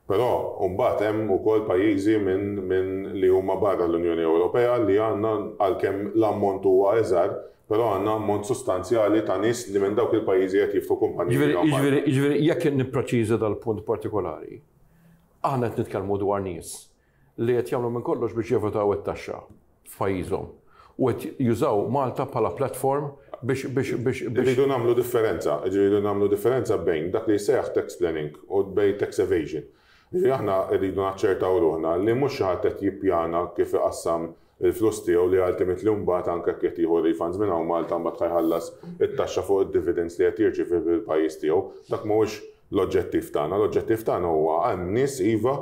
C: Però mbagħad hemm ukoll pajjiżi minn li huma barra l-Unjoni Ewropea li għandna għalkemm l-ammont huwa iżgħar, però għandna ammont sostanzjali ta' nies li minn dawk il-pajjiżi qed jiftħu kumpaniji
B: hawn Malta. Jiġifieri jekk nippreċiża dal-punt partikolari, Aħna qed nitkellmu dwar nies li qed jagħmlu minn kollox biex jevitaw it-taxxa f'pajjiżhom. u qed jużaw Malta bħala platform biex biex biex biex.
C: Irridu nagħmlu differenza, irridu nagħmlu differenza bejn dak li jsejjaħ tax planning u bejn tax evasion. Jiġifieri aħna rridu naċċertaw ruħna li mhux xi ħadd qed jippjana kif iqassam il-flus tiegħu li ultimately mbagħad anke jekk qed jieħu refunds minn hawn Malta mbagħad ħa jħallas it-taxxa fuq id-dividends li qed jirċievi fil-pajjiż tiegħu. Dak mhuwiex l-oġġettiv tagħna. L-oġġettiv tagħna huwa hemm nies iva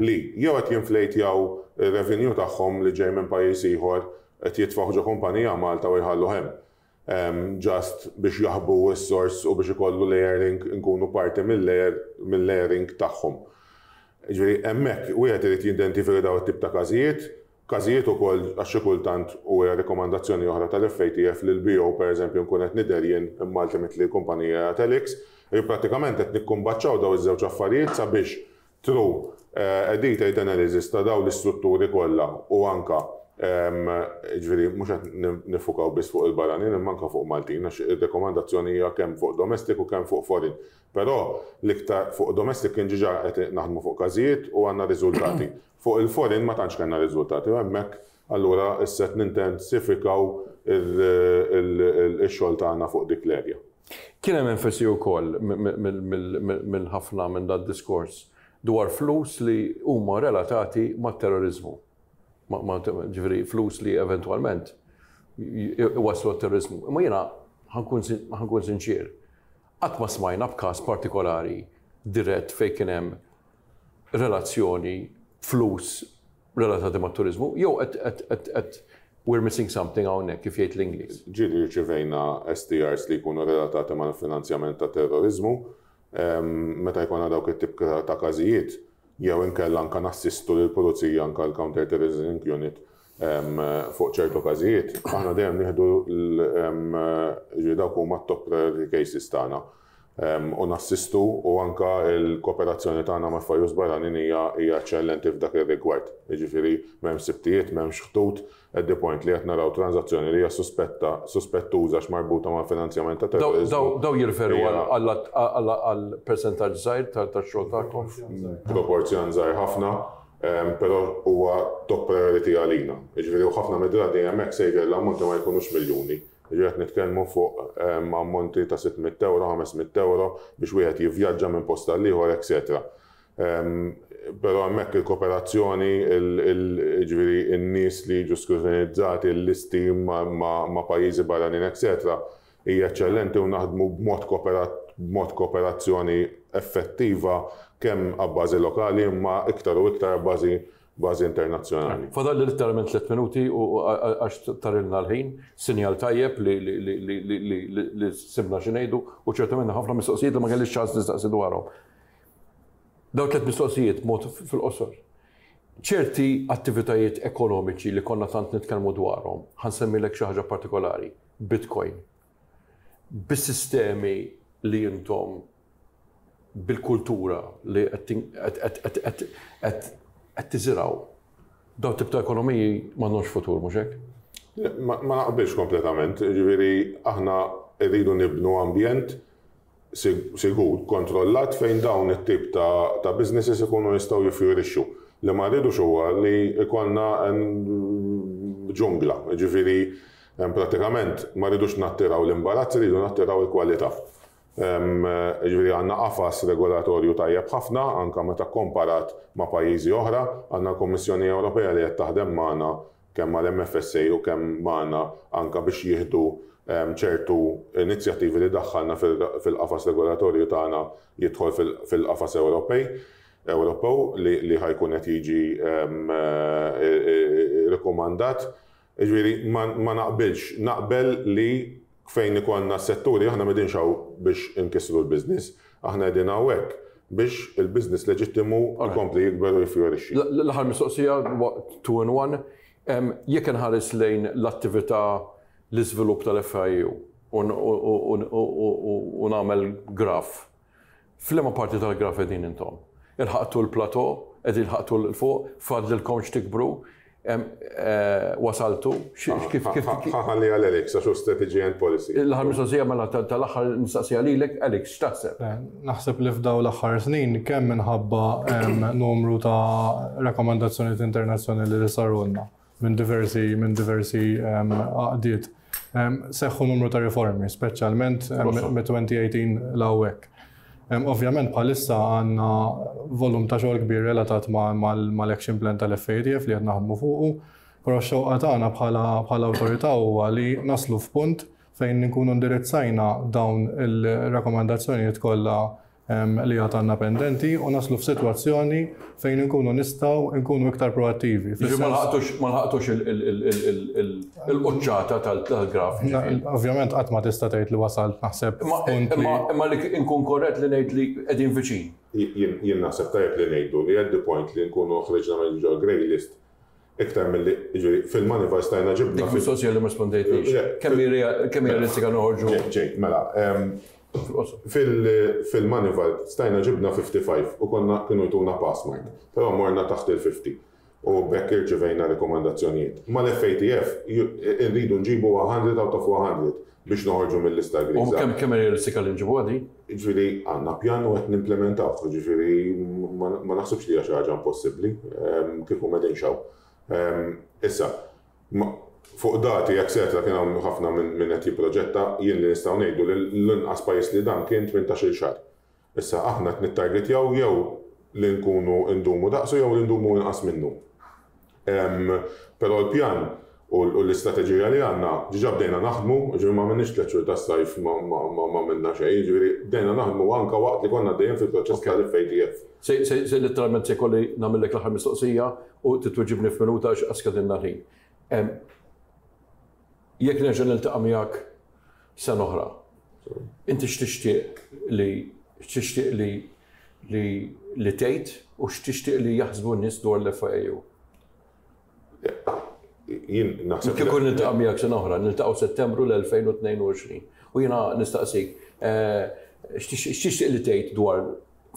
C: li jew qed jinflejtjaw ir-revenue tagħhom li ġej minn pajjiż ieħor qed jitfgħuh ġo kumpanija Malta u jħalluh hemm just biex jaħbu s-sors u biex ikollu layering inkunu parti mill-layer mill-layering tagħhom. Jiġifieri hemmhekk wieħed irid jidentifika dawn it-tip ta' każijiet, każijiet ukoll għax xi kultant u hija rikomandazzjoni oħra tal-FATF li l-BO pereżempju nkun qed nidher jien imma ultimately l-kumpanija hija Telix, jiġifieri prattikament qed nikkumbaċċaw dawn iż-żewġ affarijiet sabiex through a detailed analysis ta' dawn l-istrutturi kollha u anke jiġifieri mhux qed niffukaw biss fuq il-barranin imma anke fuq Maltin għax ir-rekomandazzjoni hija kemm fuq domestic u kemm fuq foreign. Però l-iktar fuq domestic kien ġiġa qed naħdmu fuq każijiet u għandna riżultati. Fuq il-foreign ma tantx kellna riżultati u hemmhekk allura issa qed nintensifikaw ix-xogħol tagħna fuq dik l-area.
B: Kien hemm enfasi wkoll minn ħafna minn dad-diskors dwar flus li huma relatati mat-terroriżmu. Ġifieri flus li eventwalment iwasslu għat-terroriżmu. Imma jiena ħa nkun sinċier, qatt ma smajna b'każ partikolari dirett fejn kien hemm relazzjoni flus relatati mat-turiżmu, jew qed we're missing something hawnhekk kif jgħid l-Ingliż.
C: Ġieli rċivejna STRs li jkunu relatati mal-finanzjament ta' terroriżmu. Meta jkollna dawk it-tip ta' każijiet, jew inkella anke nassistu lill-pulizija anke l-Counter Terrorism Unit fuq ċertu każijiet, aħna dejjem nieħdu jiġifieri dawk huma t-top priority cases tagħna. U nassistu u anke l-kooperazzjoni tagħna ma' FIUs barranin hija hija eċċellenti f'dak ir-rigward. Jiġifieri m'hemmx sibtijiet, m'hemmx ħtut, at the point li qed naraw tranżazzjoni li hija suspetta, suspettuża għax marbuta mal-finanzjament ta' terroriżmu.
B: Daw jirreferu għal persentaġġ żgħir tax-xogħol tagħkom?
C: Proporzjon żgħir ħafna, però huwa top priority għalina. Jiġifieri u ħafna mid-drabi hemmhekk sejjer l-ammonti ma jkunux miljuni. Jiġifieri qed nitkellmu fuq ammonti ta' 600 ewro, 500 ewro biex wieħed jivvjaġġa minn post għal ieħor, etcetera. Però hemmhekk il-kooperazzjoni, jiġifieri n-nies li jiġu skrutinizzati, il-listi ma' pajjiżi barranin, etcetera, hija eċċellenti u naħdmu b'mod b'mod kooperazzjoni effettiva kemm abbażi lokali imma iktar u iktar abbażi bażi internazzjonali.
B: Fadalli litteralment tliet minuti u għax tarilna l-ħin, sinjal tajjeb li sibna xi ngħidu u ċertament ħafna mistoqsijiet li ma kellix ċans nistaqsi dwarhom. Dawn tliet mistoqsijiet mod fil-qosor. Ċerti attivitajiet ekonomiċi li konna tant nitkellmu dwarhom, ħa nsemmilek xi ħaġa partikolari, Bitcoin. Bis-sistemi li intom bil-kultura li qed tiżirgħu, dawn tip ta' ekonomiji m'għandhomx futur, mhux hekk?
C: Ma naqbilx kompletament, jiġifieri aħna rridu nibnu ambjent sigur, kontrollat fejn dawn it-tip ta' businesses ikunu jistgħu jiffjorixxu. Li ma rridux huwa li jkollna ġungla, jiġifieri prattikament ma rridux nattiraw l-imbarazz, irridu nattiraw il-kwalità. Jiġifieri għandna qafas regolatorju tajjeb ħafna anke meta kkomparat ma' pajjiżi oħra. Għandna l-Kummissjoni Ewropea li qed taħdem magħna kemm mal-MFSA u kemm magħna anke biex jieħdu ċertu inizjattivi li daħħalna fil-qafas regolatorju tagħna jidħol fil-qafas Ewropej, Ewropew li ħa jkun qed jiġi rikkomandat. Jiġifieri ma naqbilx. Naqbel li fejn ikollna setturi, aħna m'qegħdinx hawn biex inkissru l-business, aħna qegħdin hawnhekk biex il-business leġittimu jkompli jikber u jiffjorixxi.
B: L-aħħar mistoqsija, two in one, jekk inħares lejn l-attività, l-iżvilupp tal-FIU u nagħmel graph, F'liema parti tal-graf qegħdin intom? Ilħaqtu l-plateau? Qegħdin ilħaqtu 'l fuq? Fadlilkom x'tikbru? Wasaltu? Kif kif?
C: Ħa ħalliha għal Alex għax hu strategy and policy.
B: L-aħħar mistoqsija mela tal-aħħar nistaqsiha lilek, Alex, x'taħseb?
D: Naħseb li f'dawn l-aħħar snin kemm minħabba numru ta' rakkomandazzjonijiet internazzjonali li sarulna. minn diversi minn diversi għaqdiet. Seħħu numru ta' riformi, speċjalment mit-2018 'l hawnhekk. Ovvjament bħalissa għandna volum ta' xogħol kbir relatat mal-action plan tal-FATF li qed naħdmu fuqu, però x-xewqa tagħna bħala awtorità huwa li naslu f'punt fejn inkunu indirizzajna dawn il-rakkomandazzjonijiet kollha li għad għandna pendenti u naslu f'sitwazzjoni fejn inkunu nistgħu nkunu iktar proattivi.
B: Ma lħaqtux il-quċċata tal-graf.
D: Ovvjament qatt ma tista' tgħid li wasalt naħseb
B: punt li. Imma li nkun korrett li ngħid li qegħdin viċin.
C: Jien naħseb tajjeb li ngħidu li at the point li nkunu ħriġna minn ġol grey list Iktar milli, jiġifieri, fil-Moneyval stajna ġibna.
B: Dik mistoqsija li ma rispondejtlix. Kemm hi realistika noħorġu?
C: Ġej, mela. Fil-Moneyval stajna ġibna 55 u konna kienu jtuna pass mark, però morna taħt il-50 u b'hekk irċivejna rekomandazzjonijiet. Mal-FATF irridu nġibu 100 out of 100 biex noħorġu mil-lista griża.
B: U kemm hi realistika li nġibuha din?
C: Jiġifieri għandna pjan u qed nimplementawh, jiġifieri ma naħsibx li hija xi ħaġa impossibbli, kieku m'qegħdinx hawn. Issa, fuq dati etcetera kien hawn ħafna min qed jipproġetta, jien li nistgħu ngħidu li l-inqas pajjiż li dam kien 18-il xahar. Issa aħna qed nittargetjaw jew li nkunu ndumu daqsu jew li ndumu inqas minnu. Però l-pjan u l-istrateġija li għandna diġà bdejna naħdmu, jiġifieri ma għamilniex tlett xhur tas-sajf ma għamilna xejn, jiġifieri bdejna naħdmu anke waqt li konna għaddejjin fil-proċess tal-FATF.
B: Se litteralment se jkolli nagħmillek l-aħħar mistoqsija u trid tweġibni f'minuta għax skadilna l-ħin. Jekk nerġa' niltaqa' miegħek sena oħra, inti x'tixtieq li x'tixtieq li li li tgħid u x'tixtieq li jaħsbu n-nies dwar l-FIAU?
C: Jien naħseb.
B: Kieku niltaqa' miegħek sena oħra, niltaqgħu Settembru l-2022 u jiena nistaqsik eh, x'tixtieq li tgħid dwar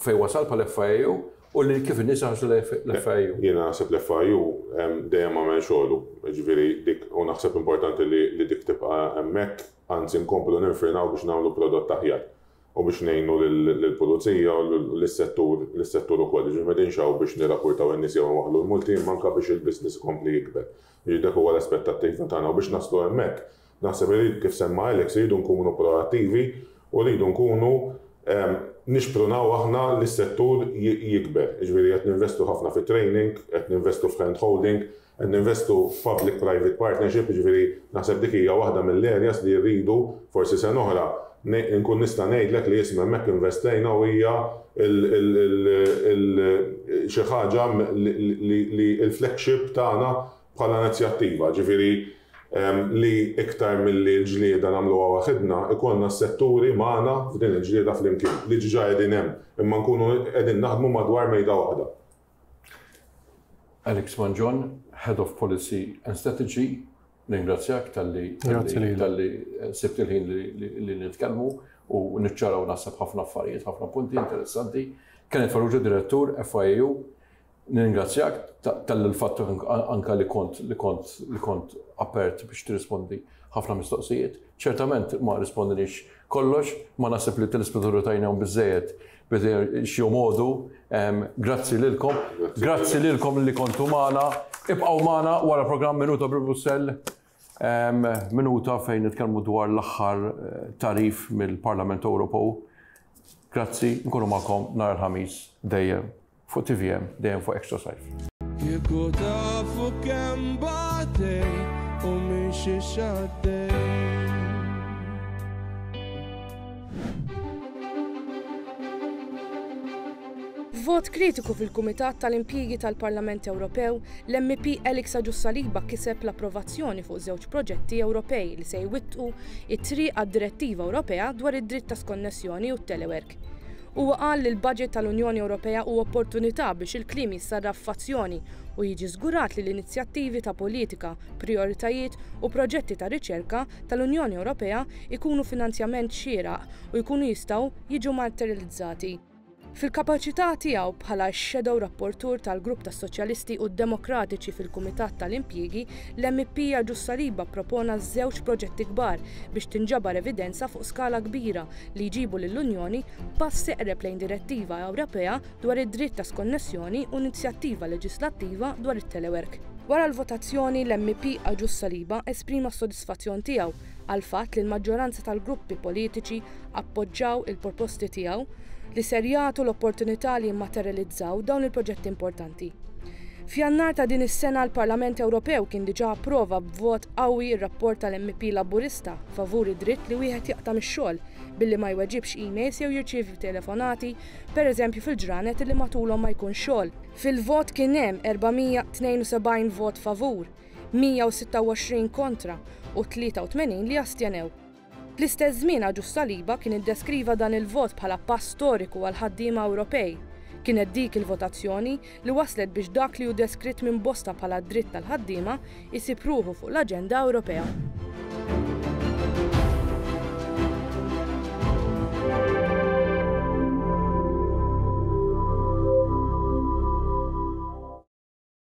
B: fejn wasal bħal FIAU u li kif in-nies iħarsu l-FIAU.
C: Jiena naħseb l-FIAU dejjem għamel xogħlu, jiġifieri dik u naħseb importanti li dik tibqa' hemmhekk, anzi nkomplu ninfrinaw biex nagħmlu prodott aħjar u biex ngħinu lill-pulizija u lis-settur lis-settur ukoll. Jiġifieri m'qegħdinx hawn biex nirrapportaw in-nies jew inwaħħlu l-multi imma anke biex il-business ikompli jikber. Jiġifieri dak huwa l-aspettattiva tagħna u biex naslu hemmhekk Naħseb li kif semma Alex irridu nkunu proattivi u rridu nkunu nixprunaw aħna li s-settur jikber. Jiġifieri qed ninvestu ħafna fi training, qed ninvestu f'hand holding, qed ninvestu f'public private partnership, jiġifieri naħseb dik hija waħda mill-areas li rridu forsi sena oħra nkun nista' ngħidlek li isma' hemmhekk investejna u hija xi ħaġa li l-flagship tagħna bħala inizjattiva, ġifieri li iktar milli l-ġlieda nagħmluha waħidna, ikollna s-setturi magħna f'din il-ġlieda flimkien, li ġiġa qegħdin hemm, imma nkunu qegħdin naħdmu madwar mejda waħda.
B: Alex Mangion, Head of Policy and Strategy, nirringrazzjak talli talli sibt il-ħin li nitkellmu u niċċaraw naħseb ħafna affarijiet, ħafna punti interessanti. Kenneth Farrugia, Direttur, FIAU, Nirringrazzjak tal-fatt anka li kont li kont li kont apert biex tirrispondi ħafna mistoqsijiet. Ċertament ma rispondinix kollox, ma naħseb li telespettaturi tajnihom biżejjed biex jomodu. Grazzi lilkom. Grazzi lilkom li kontu magħna. Ibqgħu magħna wara programm Minuta bi Brussell. Minuta fejn nitkellmu dwar l-aħħar eh, tarif mill-Parlament Ewropew. Grazzi, nkunu magħkom nhar il-ħamis dejjem. Fuq tvm, dejjem fuq Extra Sajf.
A: Kieku tafu kemm batej u minn xiex għaddej.
E: F'vot kritiku fil-Kumitat tal-Impjiegi tal-Parlament Ewropew, l-MEP Alex Agius Saliba kiseb l-approvazzjoni fuq żewġ proġetti Ewropej li se jwittqu t-triq għad-Direttiva Ewropea dwar id-dritt ta' skonnessjoni u t-telework. Huwa qal li l-baġit tal-Unjoni Ewropea hu opportunità biex il-kliem jissarraf f'azzjoni u jiġi żgurat li l-inizjattivi ta' politika, prijoritajiet u proġetti ta' riċerka tal-Unjoni Ewropea jkunu finanzjament xieraq u jkunu jistgħu jiġu materjalizzati. Fil-kapaċità tiegħu bħala x-Shadow Rapporteur tal-Grupp tas-Soċjalisti u d-Demokratiċi fil-Kumitat tal-Impjiegi, l-MEP Agius Saliba ppropona żewġ proġetti kbar biex tinġabar evidenza fuq skala kbira li jġibu lill-Unjoni pass eqreb lejn direttiva Ewropea dwar id-dritt ta' skonnessjoni u inizjattiva leġislattiva dwar it-telework. Wara l-votazzjoni, l-MEP Agius Saliba esprima s-sodisfazzjon tiegħu għall-fatt li l-maġġoranza tal-gruppi politiċi appoġġaw il-proposti tiegħu li ser jagħtu l-opportunità li jimmaterjalizzaw dawn il-proġetti importanti. F'Jannar ta' din is-sena l-Parlament Ewropew kien diġà approva b'vot qawwi r-rapport tal-MEP Laburista favur id-dritt li wieħed jaqta' mix-xogħol billi ma jweġibx emails jew jirċievi telefonati, pereżempju fil-ġranet li matulhom ma jkunx xogħol. Fil-vot kien hemm 472 vot favur, 126 kontra u 83 li astjenew. Fl-istess żmien Agius Saliba kien iddeskriva dan il-vot bħala pass storiku għall-ħaddiema Ewropej. Kienet dik il-votazzjoni li wasslet biex dak li hu deskritt minn bosta bħala d-dritt tal-ħaddiema jsib ruħu fuq l-aġenda Ewropea.